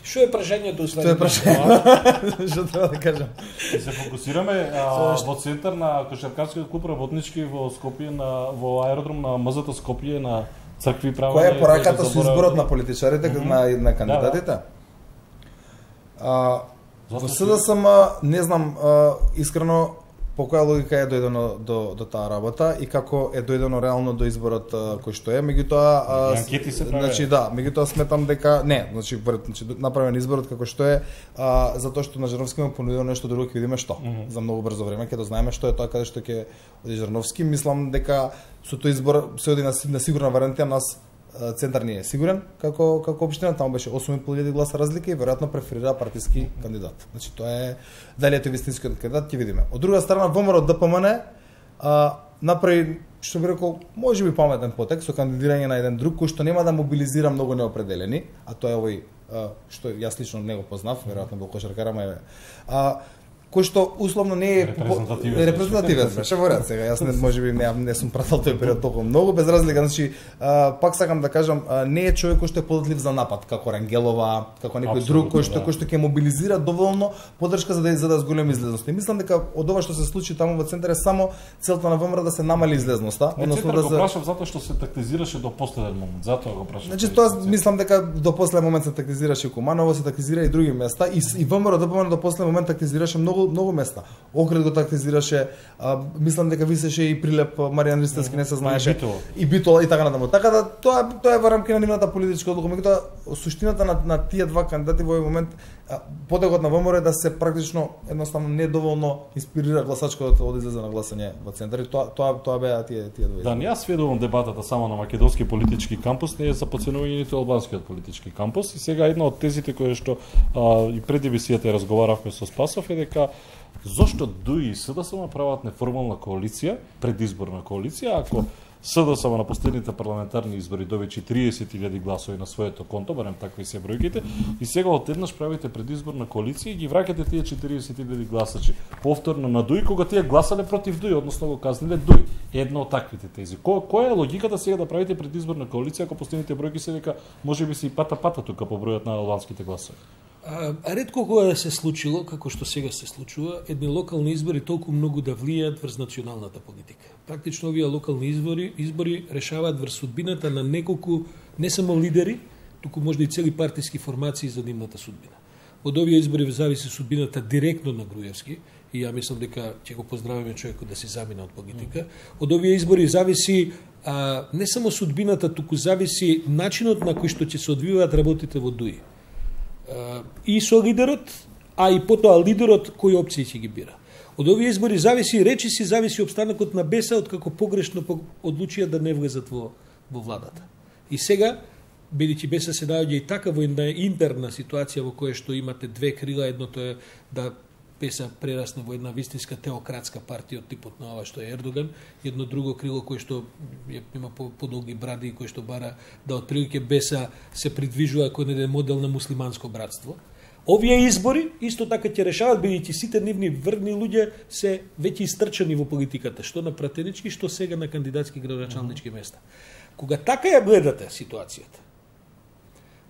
Што е прашањето Што е прашањето? Што треба да кажам? се фокусираме во центар на кошаркарскиот клуб работнички во Скопје во аеродром на МЗТ Скопје на цркви права. Која е пораката со изборот на политичарите на кандидатите? Во СДСМ не знам искрено по која логика е дојдено до таа работа и како е дојдено реално до изборот кој што е, меѓутоа анкети се прави. значи да, меѓутоа сметам дека значи направен изборот како што е, затоа што на Жарновски му понудило нешто друго, ќе видиме што. За многу брзо време ќе дознаеме што е тоа каде што ќе оди Жарновски. Мислам дека со тој избор се оди на сигурна варијанта, нас центар не е сигурен како општина, таму беше 8.500 гласа разлика и веројатно преферира партиски кандидат. Значи тоа е дали е тој вистинскиот кандидат, ќе видиме. Од друга страна ВМРО ДПМН направи, што би рекол, можеби паметен потек со кандидирање на еден друг кој што нема да мобилизира многу неопределени, а тоа е овој што јас лично не го познав, веројатно во кошаркара кој што условно не е репрезентативен беше во ред. Сега јас можеби не сум прател тој период толку многу, без разлика, значи пак сакам да кажам, не е човек кој што е податлив за напад, како Рангелова, како некој друг кој што ќе мобилизира доволно поддршка за да зголеми излезноста. И мислам дека од ова што се случи таму во центар е само целта на ВМРО да се намали излезноста, односно да го прашав затоа што се тактизираше до последен момент, затоа го прашав. Значи тоа мислам дека до последен момент се тактизираше Куманово, се тактизира и други места и ВМРО до последен момент тактизираше многу места. Окрет го тактизираше, мислам дека висеше и прилеп Маријан Ристевски, не се знаеше. И Битола и така натаму. Така да тоа е во рамки на нивната политичка одлука. Меѓутоа суштината на тие два кандидати во овој момент, подегот на ВМРО е да се практично едноставно недоволно инспирира гласачкото да излезе на гласање во центар. И тоа беа тие две. Да, не ја сведувам дебатата само на македонски политички кампус, не е за подценување ниту албанскиот политички кампус. И сега една од тезите кои што и пред емисијата разговаравме со Спасов е дека зошто ДУИ и СДСМ прават неформална коалиција, предизборна коалиција, ако СДСМ на последните парламентарни избори добичи 30.000 гласови на своето конто, барем такви се бројките, и сега одеднаш правите предизборна коалиција и ги враќате тие 40.000 гласачи повторно на ДУИ, кога тие гласале против ДУИ, односно го казниле ДУИ. Една од таквите тези. Која е логиката сега да правите предизборна коалиција ако последните бројки се дека можеби се и пата тука по бројот на албанските гласови? Ретко кога да се случило, како што сега се случува, едни локални избори толку многу да влијаат врз националната политика. Практично овие локални избори решаваат врз судбината на неколку, не само лидери, туку можда и цели партиски формации за нивната судбина. Од овие избори зависи судбината директно на Груевски, и ја мислам дека ќе го поздравиме човекот да се замина од политика. Од овие избори зависи не само судбината, туку зависи начинот на кој што ќе се одвиваат работите во ДУИ. И со лидерот, а и потоа лидерот кои опции ќе ги бира. Од овие избори зависи опстанокот на БЕСА, од како погрешно одлучија да не влезат во владата. И сега, бидејќи БЕСА се наоѓа и така во една интерна ситуација во која што имате две крила, едното е да БЕСА прерасне во една вистинска теократска партија од типот на ова што е Ердоган, едно друго крило кое што има подолги бради и кое што бара да отприлike БЕСА се придвижува кон еден модел на муслиманско братство. Овие избори исто така ќе решават, бидејќи сите нивни врвни луѓе се веќе истрчани во политиката, што на пратенички, што сега на кандидатски градоначалнички места. Кога така ја гледате ситуацијата,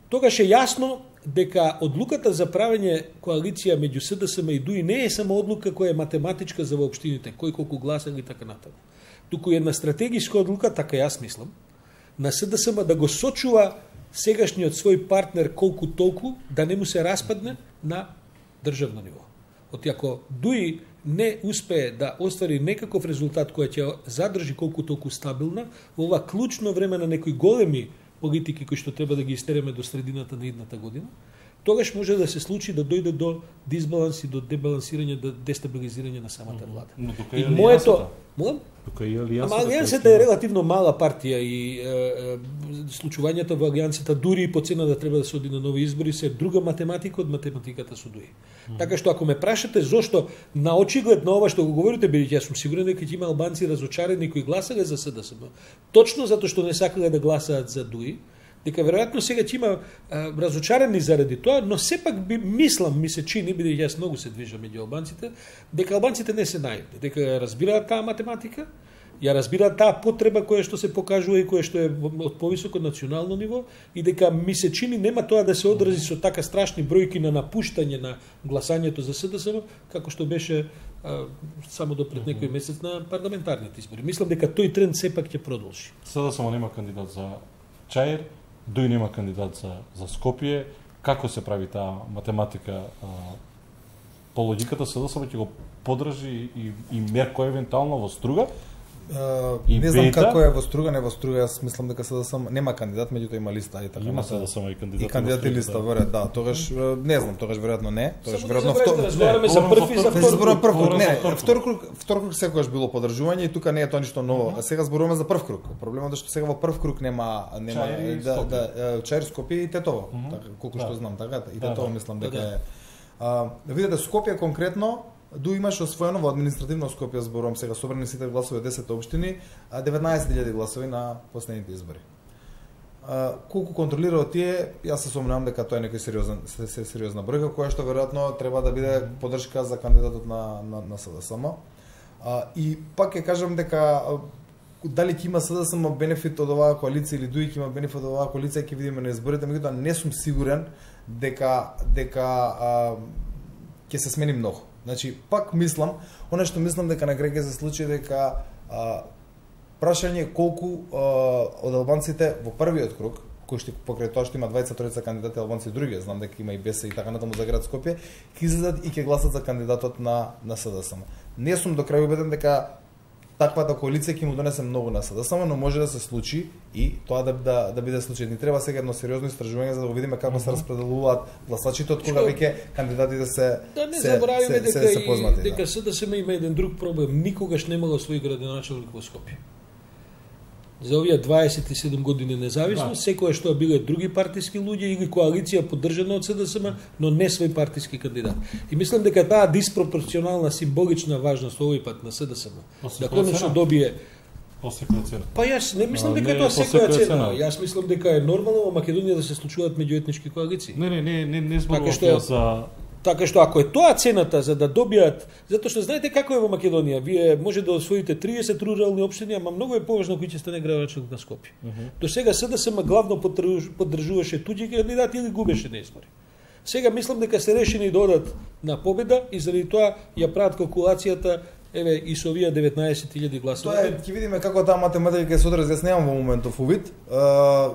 тогаш е јасно дека одлуката за правење коалиција меѓу СДСМ и ДУИ не е само одлука која е математичка за воопштините, кој колку гласа или така натаму. Туку една стратегиска одлука, така јас мислам, на СДСМ да го сочува сегашниот свој партнер колку толку да не му се распадне на државно ниво. Оти ако ДУИ не успее да оствари некаков резултат кој ќе задржи колку толку стабилна во ова клучно време на некои големи политики кои што треба да ги истереме до средината на идната година, тогаш може да се случи да дојде до дисбаланс и до дебалансирање, до дестабилизирање на самата влада. Но тука е алијансата. Алијансата е релативно мала партија и случувањата во алијансата дури и по цена да треба да се оди на нови избори се друга математика од математиката со ДУИ. Така што ако ме прашате зошто на очиглед на ова што го говорите, бидејќи јас сум сигурен дека ќе има албанци разочарени кои гласале за СДСМ, точно затоа што не сакале да гласаат за ДУИ, дека веројатно сега ќе има разочарени заради тоа, но сепак ми се чини, бидејќи јас многу се движам меѓу албанците, дека албанците не се наивни, дека разбираат таа математика ја разбира таа потреба која што се покажува и која што е од повисоко национално ниво и дека ми се чини нема тоа да се одрази со така страшни бројки на напуштање на гласањето за СДСМ како што беше само до пред некој месец на парламентарните избори. Мислам дека тој тренд сепак ќе продолжи. СДСМ нема кандидат за Чаир, Дуј нема кандидат за Скопје. Како се прави таа математика? По логиката СДСМ ќе го подржи и Мерко евентуално во Струга? Не знам како е во Струга, не во Струга, јас мислам дека СДСМ нема кандидат, меѓутоа има листа и така. Има СДСМ и кандидат. И кандидат и листа, веројатно, да, тогаш не знам, тогаш веројатно не, тогаш веројатно разговараме за прв и за втор круг. Не, втор круг секогаш било подржување и тука не е тоа ништо ново. А сега зборуваме за прв круг. Проблемот е што сега во прв круг нема Чаир, Скопје и Тетово, така колку што знам, така и Тетово мислам дека е. Да видите Скопје конкретно Ду имаше освоено во административно Скопје, зборувам сега, собрани сите гласови од 10 општини, 19.000 гласови на последните избори. Колку контролира од тие, јас се сомневам дека тоа е некој сериозна бројка, која што веројатно треба да биде поддршка за кандидатот на СДСМ. И пак ќе кажам дека дали ќе има СДСМ бенефит од оваа коалиција или Дуј ќе има бенефит од оваа коалиција, ќе видиме на изборите, меѓутоа не сум сигурен дека ќе се смени многу. Значи, пак мислам, она што мислам дека на крај ќе се случи дека прашање колку од албанците во првиот круг, кој што покрај тоа што има 23 кандидати албанци други, знам дека има и БЕС и така натаму за град Скопје, ќе излезат и ќе гласат за кандидатот на СДСМ. Не сум до крај убеден дека таквата коалиција ќе му донесе многу на СДСМ, но може да се случи и тоа да биде случај. Ни треба сега едно сериозно истражување за да видиме како се распределуваат гласачите од кога веќе кандидатите се познати. Дека СДСМ има еден друг проблем, никогаш немало свој градоначелник во Скопје. За овие 27 години независност, секоја што биле други партиски луѓе или коалиција поддржана од СДСМ, но не свој партиски кандидат. И мислам дека таа диспропорционална символична важност овој пат на СДСМ, да конечно добие по секоја цена. Па јас не мислам дека тоа секоја цена. Јас мислам дека е нормално во Македонија да се случуваат меѓуетнички коалиции. Не зборувам за Така што ако е тоа цената за да добијат, затоа што знаете како е во Македонија, вие може да освоите 30 рурални општини, ама многу е поважно кој ќе стане градоначелник на Скопје. До сега СДСМ главно поддржуваше туѓи кандидати или губеше на избори. Сега мислам дека се решени да одат на победа и заради тоа ја прават калкулацијата еве и со овие 19.000 гласови. Тоа ќе видиме како таа математика ќе се одрази, јас немам во моментов увид,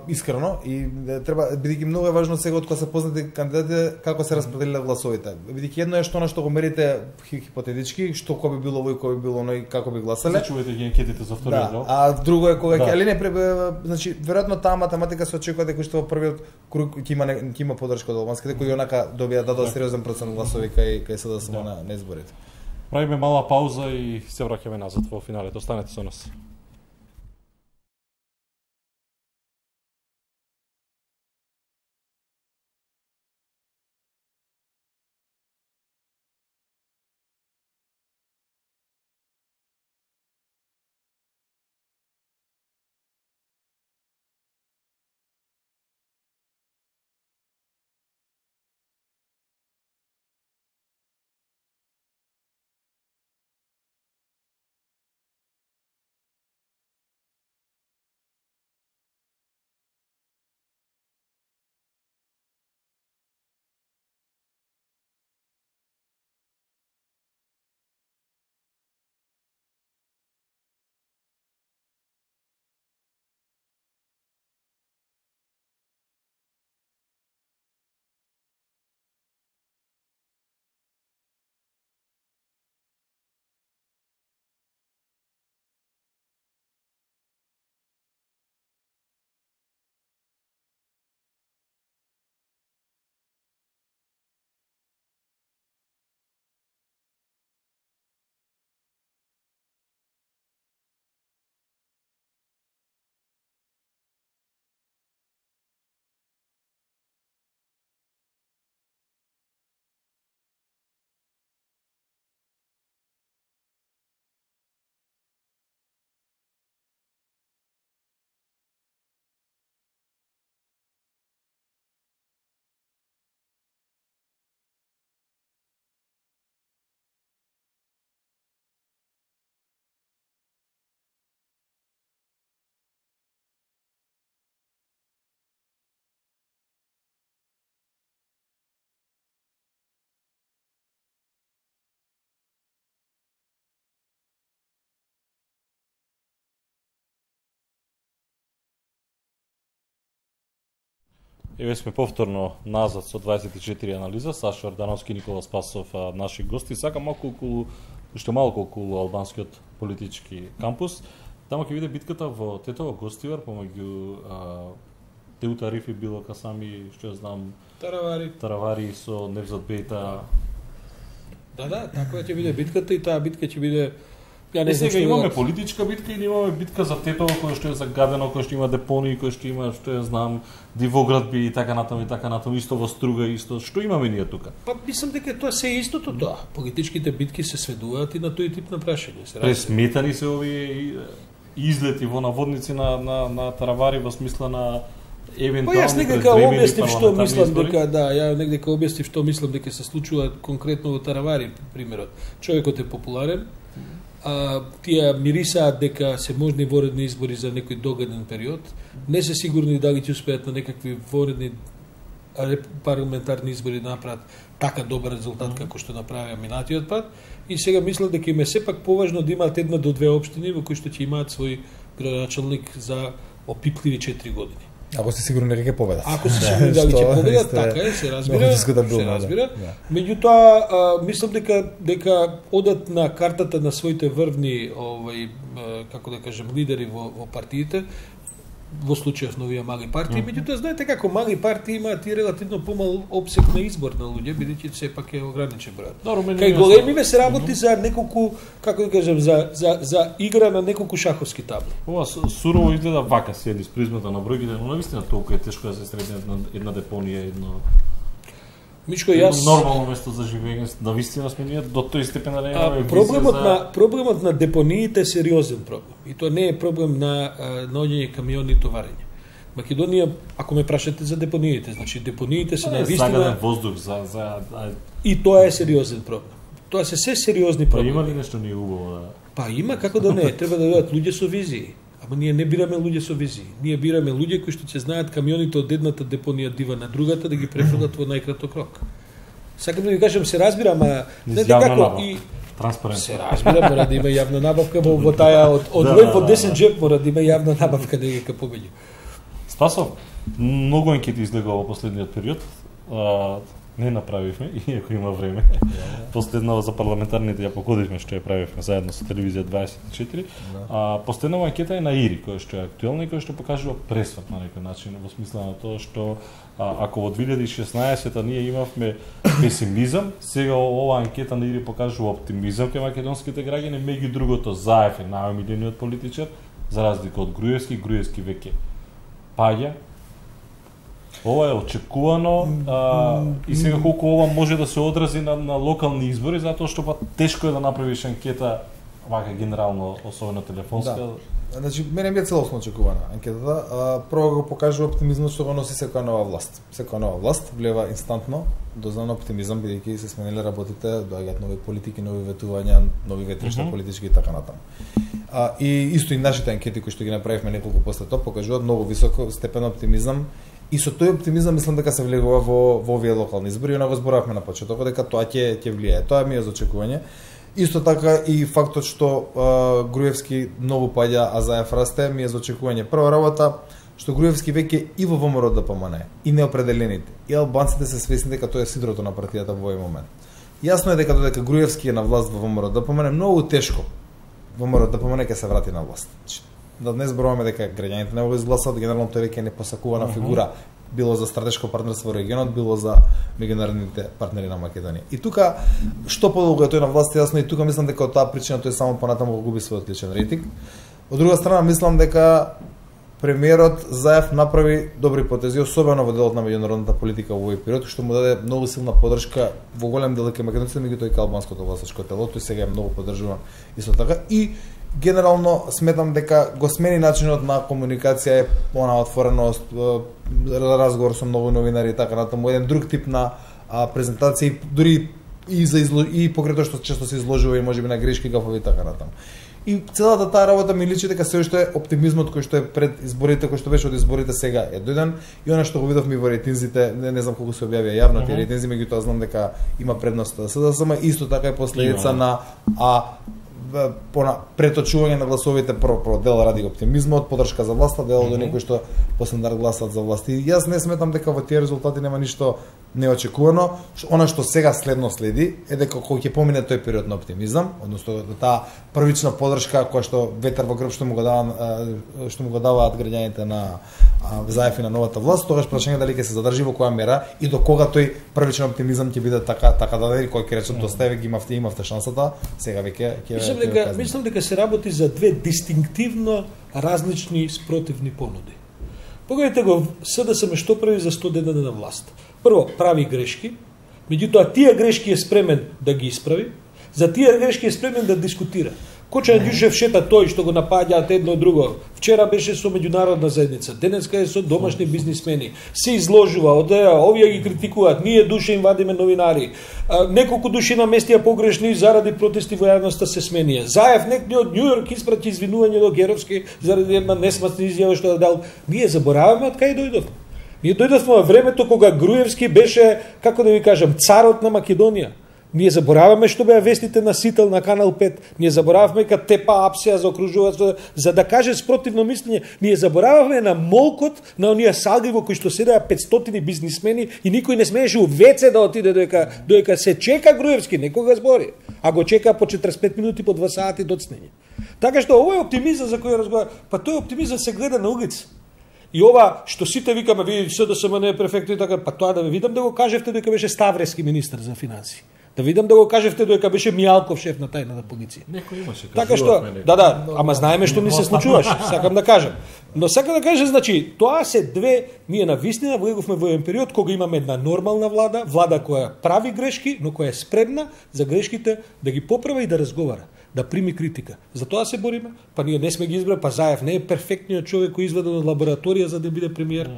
искрено, и треба бидејќи многу е важно сега од кога се познати кандидатите како се распределиле гласовите. Бидејќи едно е што што го мерите хипотетички, што кој би било овој, кој би било оној, како би гласале. Зачувате ги анкетите за вториот дел. А друго е кога ќе, али не, значи веројатно таа математика се очекува дека што во првиот круг ќе има поддршка од албанските кои онака добија дадоа сериозен процент гласови кај СДСМ на изборите. Правиме мала пауза и се враќаме назад во финалето. Останете со нас. Еве сме повторно назад со 24 анализа, Сашо Ордановски, Никола Спасов, наши гости. Сакам уште малку околу албанскиот политички кампус. Таму ќе биде битката во Тетово Гостивар помеѓу Теута Рифи, Било Касами, што ја знам, Таравари со Невзат Бејта. Да, таква ќе биде битката и таа битка ќе биде. Ја не сега имаме политичка битка или имаме битка за Тетово кој што е загадено, кој што има депонии, кој што има, што ја знам, дивоградби и така натаму, исто во Струга, исто. Што имаме ние тука? Па мислам дека тоа се истото тоа. Политичките битки се сведуваат и на тој тип на прашање. Пресметани се овие излети во наводници на Таравари во смисла на евентуално. Па јас некако објаснив што мислам дека ја некако објаснив што мислам дека се случува конкретно во Таравари примерот. Човекот е популарен. Тие мирисаат дека се можни воредни избори за некој догаден период. Не се сигурни дали ќе успеат на некакви воредни парламентарни избори да направат така добар резултат како што направија минатиот пат. И сега мислам дека им е сепак поважно да имаат една до две општини во кои што ќе имаат свој градоначалник за опипливи 4 години. Ако се сигурни дека ќе победат. Ако се сигурни дали ќе победат, така е, се разбира. Меѓутоа, мислам дека одат на картата на своите врвни, како да кажем, лидери во партиите, во случајов на овие мали партии, меѓутоа знаете како мали партии имаат и релативно помал опсек на избор на луѓе, бидејќи сепак е ограничен број. Кај големиве се работи за неколку, како да кажем, за игра на неколку шаховски табли. Ова сурово изгледа вака седи с призмата на бројките, но навистина толку е тешко да се средне една депонија, едно Мичко, јас нормално место за живење, навистина сме ние до тој степен да немаме проблемот на депониите е сериозен проблем. И тоа не е проблем на наоѓање камиони и товарење. Македонија, ако ме прашате за депониите, значи депониите се навистина загаден воздух и тоа е сериозен проблем. Тоа се сериозни проблеми. Па има ли нешто ние убаво да? Па има, како да не, треба да бидат луѓе со визии. Ама ние не бираме луѓе со визии. Ние бираме луѓе кои што ќе знаат камионите од едната депонија дива на другата да ги префрлат во најкраток рок. Сакам да ви кажам, се разбира, ама не како и транспарентно. Се разбира, мора да има јавна набавка во таа од во 10 джеп мора да има јавна набавка дека побеѓа. Спасов, многу анкети излегува во последниот период. Не направивме, иако има време. Последнава за парламентарните ја погодивме што ја правивме заедно со телевизија 24. Последнава анкета е на ИРИ, која што е актуелна и која што покажува пресврт на некој начин, во смисла на тоа што ако во 2016 ние имавме песимизам, сега ова анкета на ИРИ покажува оптимизам кај македонските граѓани, меѓу другото Заев е најомилениот политичар, за разлика од Груевски веќе паѓа. Ова е очекувано и сега колку ова може да се одрази на локални избори, затоа што па тешко е да направиш анкета вака генерално, особено телефонска. Да. Значи, мене ми е целосно очекувана анкетата. Прво го покажува оптимизмот што го носи секоја нова власт. Секоја нова власт влева инстантно дознан оптимизам, бидејќи се смениле работите, доаѓаат нови политики, нови ветувања, нови ветришта политички и така натаму. И исто и нашите анкети кои што ги направивме неколку после тоа покажуваат многу високо степен оптимизам. И со тој оптимизам мислам дека се влегува во овие локални избори, и го зборавме на почеток дека тоа ќе влијае. Тоа ми е за очекување. Исто така и фактот што Груевски многу паѓа, а Заев расте, ми е за очекување. Прва работа што Груевски веќе и во ВМРО ДПМН и неопределените и албанците се свесни дека тоа е сидрото на партијата во овој момент. Јасно е дека додека Груевски е на власт во ВМРО ДПМН, многу тешко ВМРО ДПМН ќе се врати на власт. Да не зборуваме дека граѓаните не го изгласат, генерално тој веќе е непосакувана фигура, било за стратешко партнерство во регионот, било за меѓународните партнери на Македонија. И тука што подолго е тој на власт, јасно, и тука мислам дека од таа причина тој само понатаму го губи својот личен рейтинг. Од друга страна мислам дека премиерот Заев направи добри потези, особено во делот на меѓународната политика во овој период, што му даде многу силна поддршка во голем дел кај македонците, меѓутоа и кај албанското гласачко тело, тој сега е многу поддржуван исто така. И генерално сметам дека го смени начинот на комуникација, она отвореност, разговор со многу новинари и така натаму, еден друг тип на презентација, дури и покрај тоа што често се изложува и можеби на грешки, гафови и така натаму. И целата таа работа ми личи дека се уште оптимизмот кој што е пред изборите, кој што беше од изборите сега е дојден, и она што го видовме во рейтинзите, не знам колку се објавија јавно тие рейтинзи, меѓутоа знам дека има предност СДСМ, исто така е последица на преточување на гласовите прво дел ради оптимизмот, подршка за власта, дел до некои што по стандард гласат за власт. И јас не сметам дека во тие резултати нема ништо неочекувано. Она што сега следи е дека кога ќе помине тој период на оптимизам, односно таа првична подршка која што ветер во грб што му го даваат граѓаните на Заев и на новата власт, тогаш прашање дали ќе се задржи во која мера и до кога тој првичен оптимизам ќе биде така даден, кој ќе рече доста веќе имавте шансата, сега веќе ќе мислам дека се работи за две дистинктивно различни спротивни понуди. Погледнете го СДСМ што прави за 100 дена на власт. Прво, прави грешки, меѓутоа тие грешки е спремен да ги исправи, за тие грешки е спремен да дискутира. Коча Ѓушев шета тој што го напаѓаат едно друго. Вчера беше со меѓународна заедница, денеска е со домашни бизнисмени. Се изложува, овие ги критикуваат, ние душе им вадиме новинари. Неколку души наместија погрешни заради протести во јавноста се сменија. Заев некој од Њујорк испрати извинување до Геровски заради една несмасна изјава што дал. Ние забораваме од кај дојдовме. Ние дојдовме во времето кога Груевски беше, како да ви кажам, царот на Македонија. Ние забораваме што беа вестите на Сител на Канал 5. Ние забораваме дека Тепа Апсија заокружуваат за да каже спротивно мислење. Ние забораваме на молкот на оние салги во кои што седеа 500 бизнисмени и никој не смееше у ВЦ да отиде доека се чека Груевски, некога збори. А го чека по 45 минути по 2 сати доцнење. Така што овој оптимизам за кој разговара, па тој оптимизам се гледа на улица. И ова што сите викаме, ви СДСМ не е перфектно и така, па тоа да ве видам да го кажевте дека беше Ставрески министер за финансии. Да видам да го кажевте дека беше Мијалков шеф на тајната полиција. Некој имаше. Така што, да, ама знаеме што ни се случуваше, сакам да кажам. Но сакам да кажам, значи, тоа се две, ние навистина влеговме во еден период кога имаме една нормална влада која прави грешки, но која е спремна за грешките да ги поправа и да разговара, да прими критика. За тоа се бориме, па ние не сме ги избрали, па Заев не е перфектниот човек кој изведен од лабораторија за да биде премиер.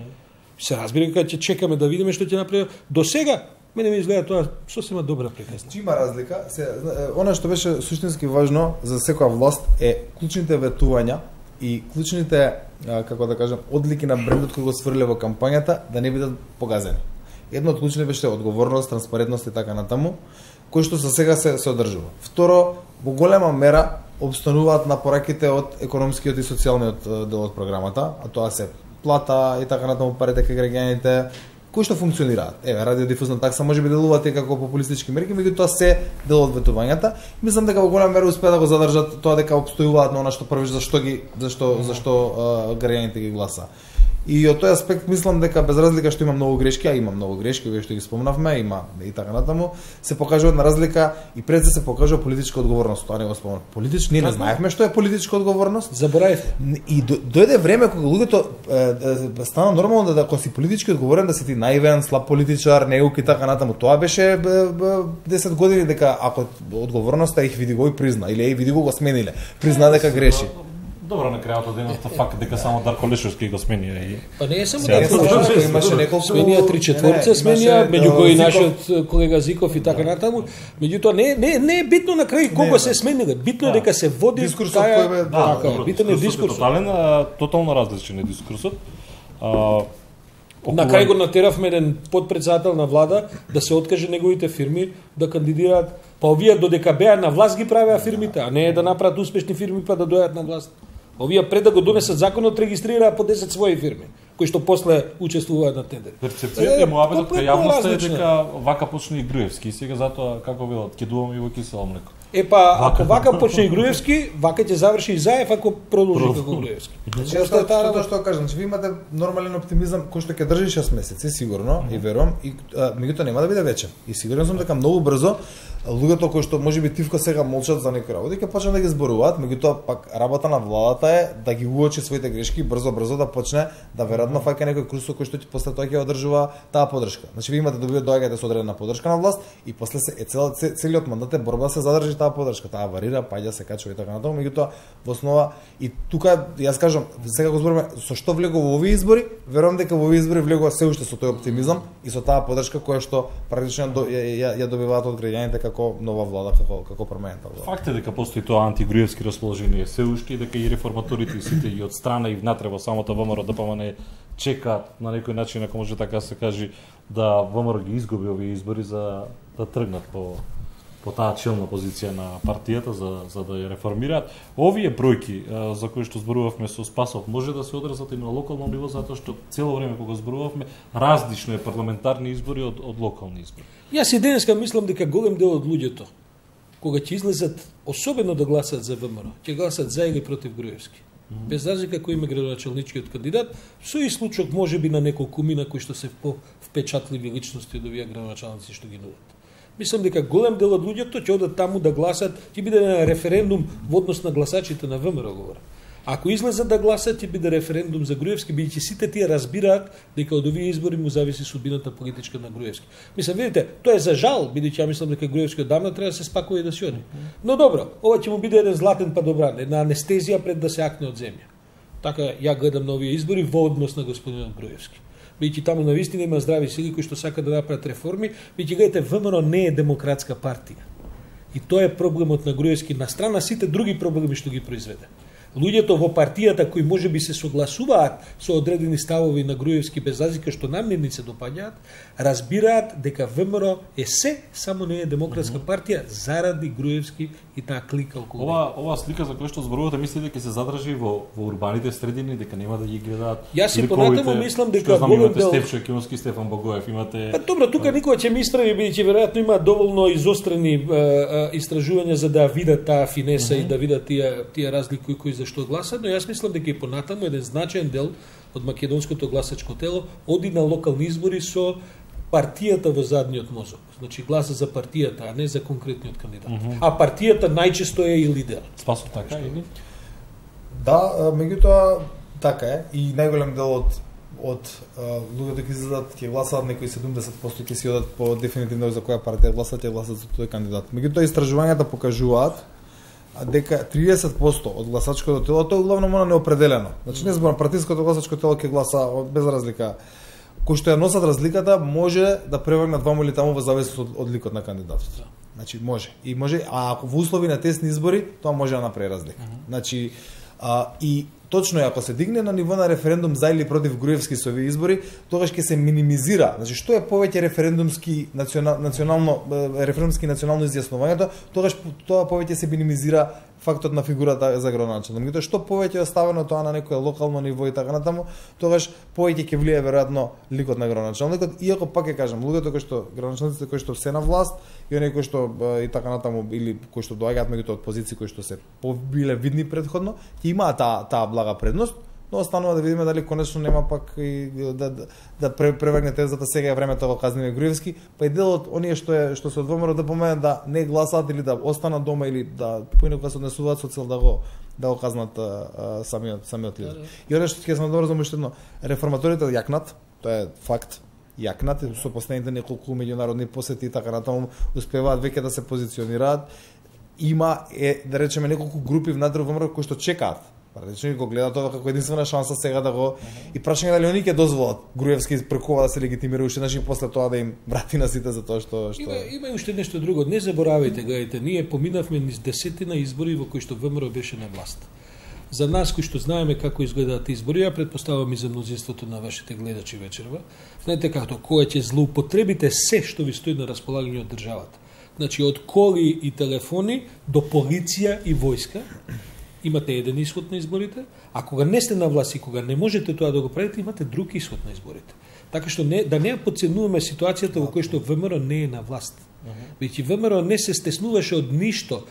Се разбира дека ќе чекаме да видиме што ќе направи. До сега мене ми изгледа тоа сосема добра приказна. Има разлика. Она што беше суштински важно за секоја власт е клучните ветувања и клучните, како да кажам, одлики на брендот кој го сврле во кампањата да не бидат погазени. Едно од клучните беше одговорност, транспарентност и така натаму, кој што за сега се одржува. Второ, во голема мера обстануваат на пораките од економскиот и социјалниот дел од програмата, а тоа се плата и така натаму парите кај граѓаните, кои што функционираат. Еве, радиодифузна такса можеби делуваат и како популистички мерки, меѓутоа се дел од ветувањата. Мислам дека во голема мера успеа да го задржат тоа дека опстојуваат на она што првиш зашто граѓаните ги гласа. И од тој аспект мислам дека без разлика што има многу грешки, а има многу грешки, кои што ги спомнавме, има и така натаму, се покажува една разлика и пред се покажува политичка одговорност. Тоа не го спомнав. Ние не знаевме што е политичка одговорност. Заборавивте. И дојде време кога луѓето стана нормално да кога си политички одговорен да си ти наивен, слаб политичар, неук и така натаму. Тоа беше 10 години дека ако одговорноста их види го и призна или види го смениле, призна дека греши. Добро, на крајот од денот факт дека само Дарко Лешовски го сменија и па не е само Дарко Лешовски, имаше неколку сменија 3/4 сменија, меѓу кои нашиот колега Зиков и така натаму. Меѓутоа не е битно на крај кого се смениле, битно е дека се води дискурсот кој е така, битен е дискурсот. Тотално различен е дискурсот. На крај го натеравме еден подпредседател на влада да се откаже неговите фирми да кандидираат. Па овие додека беа на власт ги правеа фирмите, а не е да направат успешни фирми па да дојдат на власт. Овие пред да го донесат законот регистрираа по 10 своји фирми, кои што после учествуваат на тендери. Перцепцијата му абетот кај јавноста е дека вака почне и Груевски, сега затоа како велат, ќе дувам и во кисело млеко. Ако вака почне и Груевски, вака ќе заврши и Заев ако продолжи како Груевски. Тоа што кажам, че ви имате нормален оптимизам кој што ќе држи 6 месеци сигурно и верувам и меѓутоа нема да биде вече. И сигурен сум дека многу брзо луѓето кои што можеби тивко сега молчат за некои работи ќе почнат да ги зборуваат, меѓутоа пак работа на владата е да ги уочи своите грешки и брзо да почне да веројатно фаќа некој курс кој што после тоа ќе одржува таа подршка. Значи ви имате доаѓате со одредена подршка на власт и после целиот мандат е борба се задржи таа подршка, таа варира, паѓа се качува и така натаму, меѓутоа во основа и тука јас кажам, сега го збориме со што влегува во овие избори, верувам дека во овие избори влегува се уште со тој оптимизам и со таа подршка која што практично ја добиваат од граѓаните како нова влада, како променета влада. Факт е дека постои тоа антигруевски расположение се уште и дека и реформаторите и сите и од страна и внатре во самото ВМРО ДПМН чекаат на некој начин, ако може така се каже, да ВМРО ги изгуби овие избори за да тргнат по по таа челна позиција на партијата за да ја реформираат. Овие бројки за кои што зборувавме со Спасов може да се одразат и на локално ниво, затоа што цело време кога зборувавме различно е парламентарни избори од локални избори. Јас и денеска мислам дека голем дел од луѓето кога ќе излезат особено да гласат за ВМРО, ќе гласат за или против Груевски. Без разлика кој има градоначалничкиот кандидат, со исклучок можеби на неколку мина кои што се впечатливи личности од овие градоначалници што ги нудат. Мислам дека голем дел од луѓето ќе одат таму да гласат, ќе биде на референдум во однос на гласачите на ВМРО говорам. Ако излезат да гласат, ќе биде референдум за Груевски, бидејќи сите тие разбираат дека од овие избори му зависи судбината политичка на Груевски. Мислам, видите, тоа е за жал, бидејќи ја мислам дека Груевски одамна треба да се спакува и да си оди. Но добро, ова ќе му биде еден златен падобран, една анестезија пред да се акне од земја. Така ја гледам на овие избори во однос на господинот Груевски. Бидејќи таму навистина има здрави сили кои што сакаат да направат реформи, бидејќи гледате ВМРО не е демократска партија. И тоа е проблемот на Груевски на страна сите други проблеми што ги произведе. Луѓето во партијата кои можеби се согласуваат со одредени ставови на Груевски без разлика што нам не се допаѓаат, разбираат дека ВМРО е се, само не е демократска партија заради Груевски и таа клика околу. Ова слика за која што зборувате, мислите дека ќе се задржи во урбаните средини, дека нема да ги гледаат. Јас и понатаму мислам дека голем дел Стефчо Екимовски, Стефан Богоев, имате. Па добро, тука никој ќе ме исправи бидејќи веројатно има доволно изострени истражувања за да видат таа финеса и да видат тие разлики кои зашто гласат, но јас мислам дека и понатаму еден значаен дел од македонското гласачко тело оди на локални избори со партијата во задниот мозок. Значи гласа за партијата, а не за конкретниот кандидат. А партијата најчесто е и лидер. Спасо така или? Да, меѓутоа така е и најголем дел од луѓето ќе излезат, ќе гласаат некои 70% ќе си одат по дефинитивно за која партија гласат, ќе гласат за тој кандидат. Меѓутоа истражувањата покажуваат дека 30% од гласачкото тело тоа главно она неопределено. Значи не зборам партиското гласачко тело ќе гласа без разлика. Кој што ја носат разликата може да превагнат ваму или таму во зависност од ликот на кандидатот. Значи може. И може, а ако во услови на тесни избори, тоа може да направи разлика. Значи и точно е, ако се дигне на ниво на референдум за или против Груевски со овие избори, тогаш ќе се минимизира. Значи што е повеќе референдумски национално изјаснувањето, тогаш тоа повеќе се минимизира фактот на фигурата за градоначалник. Меѓутоа што повеќе е оставено тоа на некое локално ниво и така натаму, тогаш повеќе ќе влие веројатно ликот на градоначалникот, иако пак ќе кажам, луѓето кои што градоначалниците кои што се на власт и оние кои што и така натаму или кои што доаѓаат меѓутоа од позиции кои што се побиле видни претходно, ќе имаат таа блага предност, но останува да видиме дали конечно нема пак и да преврне тезата сега е времето во казниме Груевски, па и дел од оние што се од ВМРО да поменат да не гласаат или да останат дома или да поинаку се однесуваат со цел да го казнат самиот лидер. И оно што ќе сме добро за уште едно, реформаторите јакнат, тоа е факт. Јакнат со последните неколку меѓународни посети и така натаму успеваат веќе да се позиционираат. Има да речеме неколку групи внатре во ВМРО кои што чекаат. Практично го гледаат тоа како единствена шанса сега да го и прашање дали они ќе дозволат Груевски преку да се легитимира уште значи после тоа да им врати на сите за тоа што Има уште нешто друго. Не заборавајте, гледайте, ние поминавме низ десетина избори во кои што ВМРО беше на власт. За нас кои што знаеме како изгледаат избори, ја претпоставам и за мнозинството на вашите гледачи вечерва, знаете како кога ќе злоупотребите се што ви стои на располагање од државата. Значи од коли и телефони до полиција и војска, имате еден исход на изборите, а кога не сте на власт и кога не можете тоа да го правите, имате друг исход на изборите. Така што да не подценуваме ситуацијата во која што ВМРО не е на власт. Веќе ВМРО не се стеснуваше од ништо.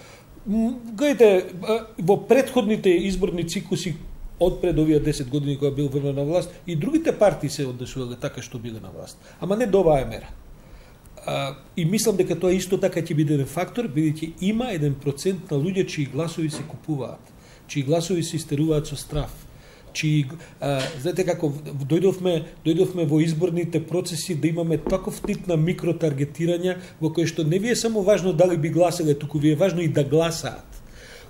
Гледайте, во претходните изборни циклуси од пред овие 10 години кога бил ВМРО на власт, и другите партии се однесувале така што биле на власт. Ама не до оваа мера. И мислам дека тоа исто така ќе биде еден фактор, бидејќи има 1% на луѓе чии гласови се купуваат, чии гласови се истеруваат со страф, чии знаете како дојдовме во изборните процеси да имаме таков тип на микротаргетирање во кој што не ви е само важно дали би гласале, туку ви е важно и да гласаат.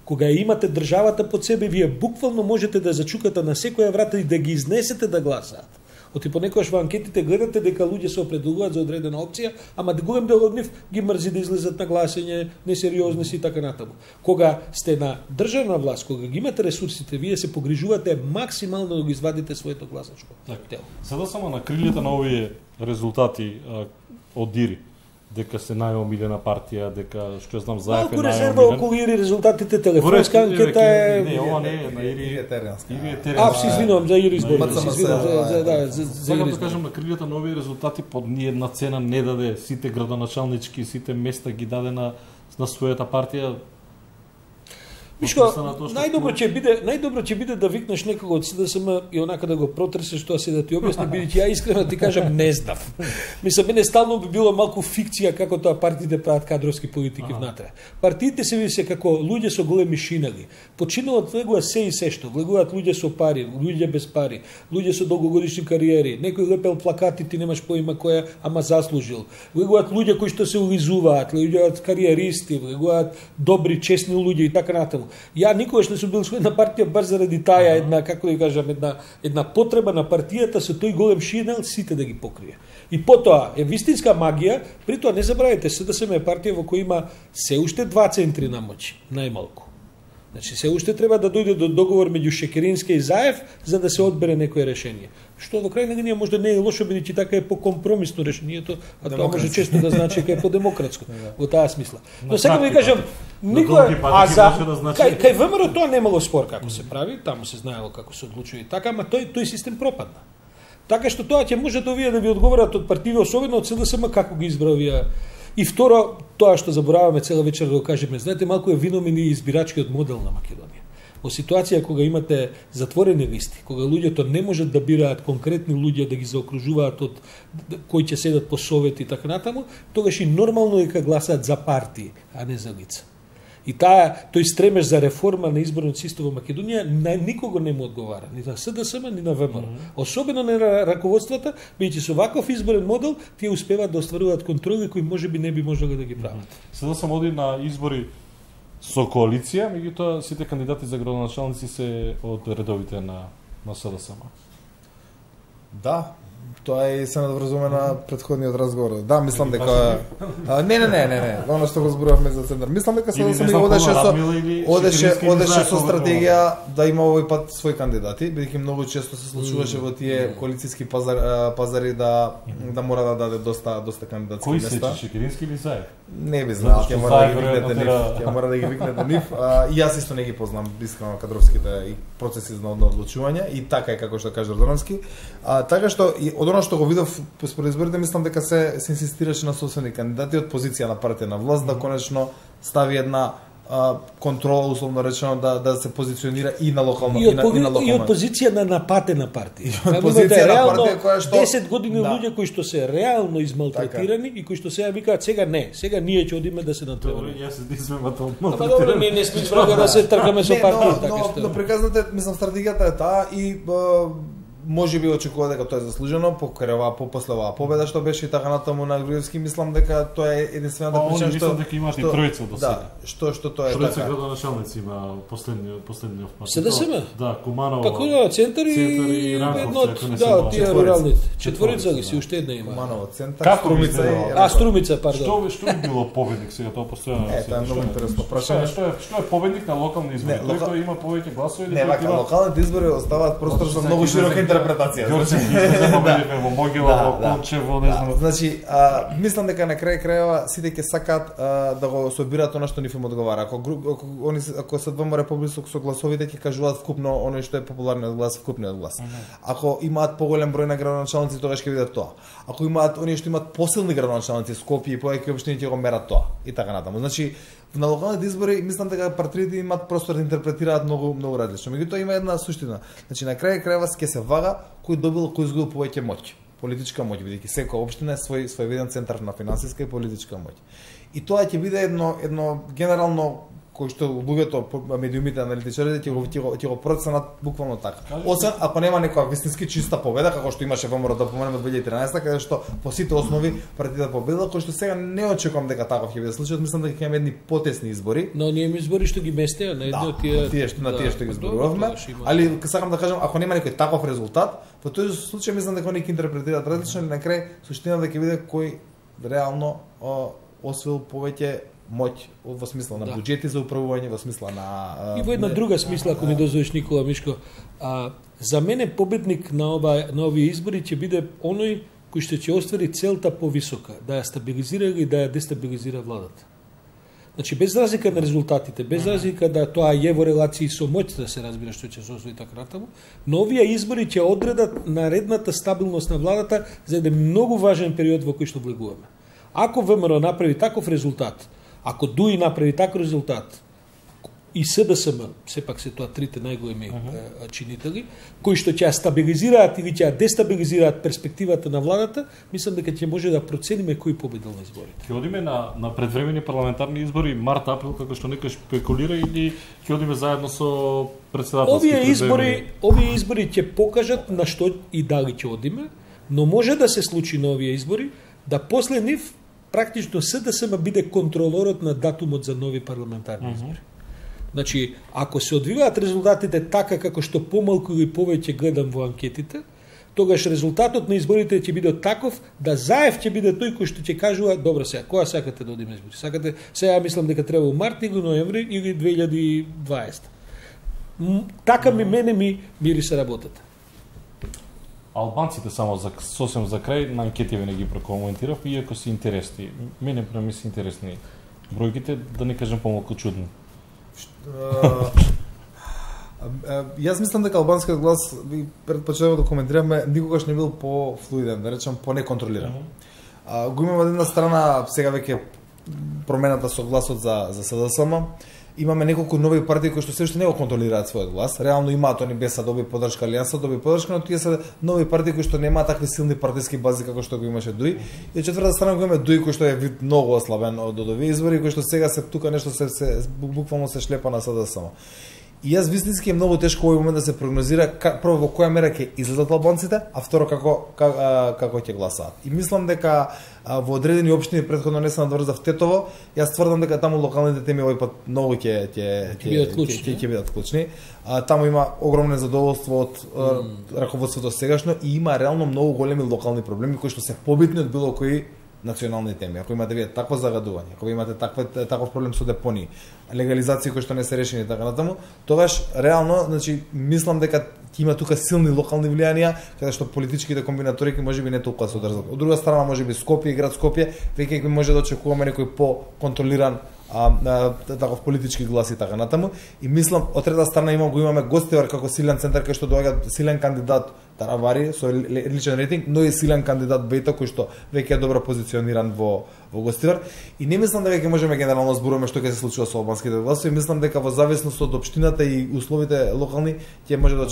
Кога имате државата под себе, вие буквално можете да зачукате на секоја врата и да ги изнесете да гласаат. Оти понекогаш во анкетите гледате дека луѓе се определуваат за одредена опција, ама голем дел од нив ги мрзи да излезат на гласање, несериозни си и така натаму. Кога сте на државна власт, кога ги имате ресурсите, вие се погрижувате максимално да го извадите своето гласачко тело. Сега само на крилите на овие резултати од Дири, дека се најомилена партија, дека што знам Заев е малку резерва најомилен. околу Ири резултатите телефонска анкета е. Не, ова не е на Ири Етерианска. Се извинувам за Ири избори. МЦМС, Се извинувам за Сакам Ири да кажам на крилјата на овие резултати под ни една цена не даде сите градоначалнички, сите места ги даде на својата партија. Мишко, најдобро ќе биде да викнеш некого од СДСМ и онака да го протресеш тоа се да ти објасни, бидејќи ја искрено ти кажам не знам. Мислам, мене стално би било малку фикција како тоа партиите прават кадровски политики внатре. Партиите се види како луѓе со големи шинали. Починуваат влегуваат се и се што, влегуваат луѓе со пари, луѓе без пари, луѓе со долгогодишни кариери, некој лепел плакати ти немаш поима која ама заслужил. Влегуваат луѓе кои што се улизуваат, влегуваат кариеристи, влегуваат добри, честни луѓе и така натаму. Ја никогаш не сум бил член на партија бар заради таа една, како да кажам, една потреба на партијата со тој голем шинел сите да ги покрие. И потоа е вистинска магија, при тоа не забравяйте, СДСМ е партија во која има се уште два центри на моќ, најмалку. Значи се уште треба да дојде до договор меѓу Шекеринска и Заев за да се одбере некое решение. Што во крај на денот може да не е лошо бидејќи така е покомпромисно решението, а тоа може често да значи дека е подемократско во таа смисла. Но сега ви кажам, никој кај ВМРО тоа немало спор како се прави, таму се знаело како се одлучува и така, ама тој систем пропадна. Така што тоа ќе може да да ви одговорат од партиви, особено од СДСМ како ги избра овие. И второ, тоа што забораваме цела вечер да го кажеме, знаете, малку е виномен и избирачкиот модел на Македонија. Во ситуација кога имате затворени листи, кога луѓето не можат да бираат конкретни луѓе да ги заокружуваат од кои ќе седат по совети и така натаму, тогаш и нормално е кога гласаат за партии, а не за лица. И тој стремеж за реформа на изборниот систем во Македонија на никого не му одговара, ни на СДСМ, ни на ВМРО. Особено на раководствата, бидејќи со ваков изборен модел тие успеваат да остваруваат контроли кои можеби не би можеле да ги прават. СДСМ оди на избори со коалиција, меѓутоа сите кандидати за градоначалници се од редовите на СДСМ. Да, тоа е се надврзуваме на претходниот разговор. Да, мислам дека не, оно што го зборувавме за центар. Мислам дека СДСМ одеше со стратегија да има овој пат своји кандидати, бидејќи многу често се случуваше во тие коалициски пазари да мора да даде доста кандидатски места. Кој се Шекерински или Заев? Не би знал, ќе мора да ги викнете нив. И јас исто не ги познам искрено кадровските и процеси на одлучување и така е како што каже Ордановски. Така што од оно што го видов според изборите, мислам дека се инсистираше на собствени кандидати од позиција на партија на власт да конечно стави една контрола, условно речено, да се позиционира и на локално и од позиција на напатена партија. Од позиција на партија која што 10 години луѓе кои што се реално измалтретирани и кои што сега викаат сега ние ќе одиме да се натпревараме. Јас се дисмем тоа. Добро, не сме врага да се тркаме со партија, така што. Но приказната, мислам, стратегијата е таа и може би очекува дека тоа е заслужено после оваа победа што беше и така натаму на Груевски, мислам дека тоа е единствената причина што мислам дека имаш и тројца до сега. Да, што тоа е така. Тројца градоначалници има последниот пат. СДСМ? Да, Куманова. Па кој центар и Ранковци, да, тие руралните. Четворица ли си, уште една има. Куманова центар, Струмица и Струмица, пардон. Што би било победник сега тоа постојано? Тоа е многу интересно прашање. Што е победник на локални избори? Тој кој има повеќе гласови или не, вака локалните избори оставаат простор за многу широка интерпретација. Во Могила, во Кончево, не знам. Значи, мислам дека на крај крајава сите ќе сакаат да го собираат она што нив им одговара. Ако се ВМРО поблисок со гласовите ќе кажуваат вкупно оној што е популарниот глас, вкупниот глас. Ако имаат поголем број на градоначалници, тогаш ќе видат тоа. Ако имаат оние што имаат посилни градоначалници, Скопје и повеќе општини ќе го мерат тоа и така натаму. Значи, на локалните избори мислам дека партиите имаат простор да интерпретираат многу различно. Меѓутоа има една суштина. Значи на крај крајва ќе се вага кој добил, кој изгубил повеќе моќ, политичка моќ, бидејќи секоја општина е свој центар на финансиска и политичка моќ. И тоа ќе биде едно генерално кој што луѓето, медиумите, аналитичарите ќе го проценат буквално така. Освен ако нема некоја вистински чиста победа, како што имаше ВМРО да поминеме 2013, каде што по сите основи партијата победила, кој што сега не очекувам дека таков ќе биде случајот, мислам дека ќе имаме едни потесни избори. Но ние имаме избори што ги местеа на едно тие што ги зборувавме, али сакам да кажам, ако нема некој таков резултат, во тој случај мислам дека они ќе интерпретираат различно и на крај суштината ќе биде кој реално освоил повеќе моќ во смисла на буџети за управување, во смисла на и во една друга смисла, ако ми дозволиш, Никола Мишко, за мене победник на овие избори ќе биде оној кој што ќе оствари целта повисока, да ја стабилизира или да ја дестабилизира владата. Значи, без разлика на резултатите, без разлика да тоа е во релации со моќ, да се разбира што ќе се освои така натаму, но овие избори ќе одредат наредната стабилност на владата за еден многу важен период во кој што влегуваме. Ако ВМРО направи таков резултат, ако ДУИ направи таков резултат, и СДСМ, сепак се тоа трите најголеми чинители, кои што ќе ја стабилизираат или ќе ја дестабилизираат перспективата на владата, мислам дека ќе може да процениме кој победил на изборите. Ќе одиме на предвремени парламентарни избори март-април, како што некој шпекулира, или ќе одиме заедно со председателски Овие избори ќе покажат на што и дали ќе одиме, но може да се случи на овие избори да после нив практично СДСМ биде контролорот на датумот за нови парламентарни избори. Значи, ако се одвиваат резултатите така како што помалку или повеќе гледам во анкетите, тогаш резултатот на изборите ќе биде таков да Заев ќе биде тој кој што ќе кажува, добро сега, кога сакате да одиме избори? Сакате, сега мислам дека треба во март или ноември или 2020. Така мене ми мириса работата. Албанците само сосем за крај на анкетиве не ги прокоментирав, иако се интересни. Мене ми се интересни бројките, да не кажем помалку чудни. Јас мислам дека албанскиот глас, пред почетокот да коментираме, никогаш не бил по-флуиден, да речем по-неконтролиран. Го имаме од една страна сега веќе промената со гласот за СДСМ. Имаме неколку нови партии кои што се уште не го контролираат својот глас. Реално имаат они БЕСА доби поддршка, Алијанса доби поддршка, но тие се нови партии кои што немаат такви силни партиски бази како што го имаше ДУИ. И од четврта страна го имаме ДУИ кој што е вид многу ослабен од овие избори, кој што сега се тука нешто се буквално се шлепа на СДСМ. И јас вистински е многу тешко овој момент да се прогнозира прво во која мера ќе излезат албанците, а второ како ќе гласаат. И мислам дека во одредени општини претходно не се надврзав Тетово, јас тврдам дека таму локалните теми овој пат многу ќе бидат клучни. Таму има огромно задоволство од раководството сегашно и има реално многу големи локални проблеми кои што се побитни од било кои национални теми. Ако имате вие такво загадување, ако имате таков проблем со депонии, легализации кои што не се решени така натаму, тогаш реално, значи мислам дека ќе има тука силни локални влијанија, каде што политичките комбинаторики можеби не толку се одржат. Од друга страна можеби Скопје и град Скопје веќе може да очекуваме некој по-контролиран таков политички глас и така натаму. И мислам, од трета страна имаме Гостивар како силен центар кај што доаѓа силен кандидат Таравари со личен рейтинг, но и силен кандидат Бејта кој што веќе е добро позициониран во Гостивар. И не мислам дека можеме генерално зборуваме што ќе се случува со албанските гласови, мислам дека во зависност од општината и условите локални ќе може да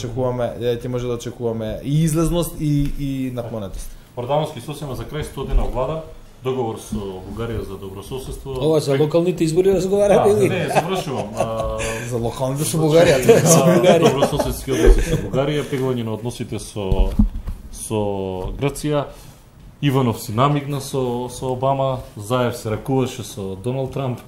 очекуваме и излезност и наклонетост. Ордановски сосема за крај 100 дена влада, договор со Бугарија за добрососедство. Ова за локалните избори разговараме или? Не, завршувам. За локалните со Бугарија. Добрососедски односи со Бугарија, пеглање на односите со Грција. Иванов си намигна со Обама, Заев се ракуваше со Доналд Трамп.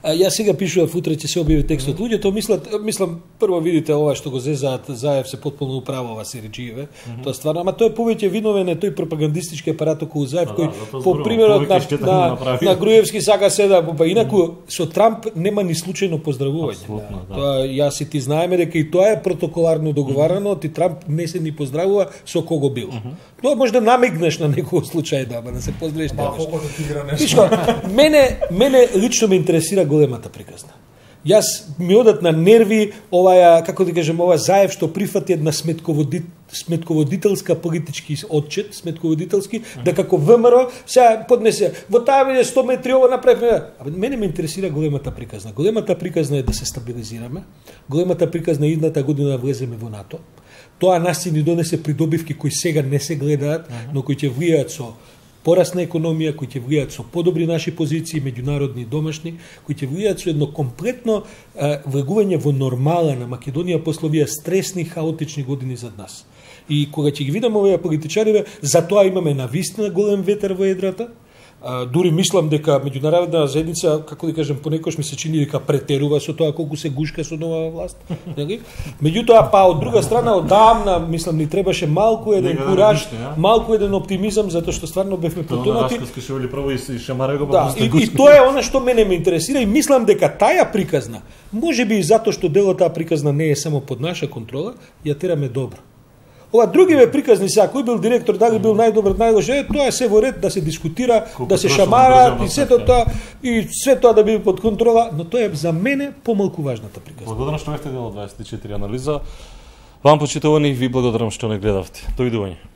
Јас сега пишував, утре ќе се објави текстот. Луѓето мислам прво видите ова што го зезаат, Заев се потполно управува Сериџиеве. Тоа стварно, ама тој повеќе виновен е тој пропагандистички апарат околу Заев кој по примерот на Груевски сака се да, па инаку со Трамп нема ни случајно поздравување. Тоа јас и ти знаеме дека и тоа е протоколарно договарано, ти Трамп не се ни поздравува со кого бил. Тоа може да намигнеш на некој случај да се поздравиш нешто. Мене лично ме интересира големата приказна. Јас ми одат на нерви оваа, како да кажем, ова Заев што прифати една сметководителска политички отчет, да како ВМРО сега поднесе во таа биде 100 метри ова направи. Мене ме интересира големата приказна. Големата приказна е да се стабилизираме. Големата приказна е идната година да влеземе во НАТО. Тоа нас ни донесе придобивки кои сега не се гледаат, но кои ќе влијаат со пораст на економија, кои ќе влијаат со подобри наши позиции, меѓународни и домашни, кои ќе влијаат со едно комплетно влегување во нормала на Македонија после овие стресни, хаотични години зад нас. И кога ќе ги видам овие политичари, затоа имаме навистина голем ветер во едрата. Дури мислам дека меѓународна заедница, како да кажем, понекогаш ми се чини дека претерува со тоа колку се гушка со нова власт, нели? Меѓутоа па од друга страна одамна мислам ни требаше малку еден кураж, малку еден оптимизам затоа што стварно бевме потонати. И тоа е она што мене ме интересира и мислам дека таа приказна, можеби и затоа што делот таа приказна не е само под наша контрола, ја тераме добро. Ова другиве приказни сега, кој бил директор, дали бил најдобар, најлош, тоа е се во ред да се дискутира, да се шамараат и сето тоа и све тоа да биде под контрола, но тоа е за мене помалку важната приказна. Благодарам што бевте дел од 24 анализа. Вам почитувани, ви благодарам што не гледавте. Довидување.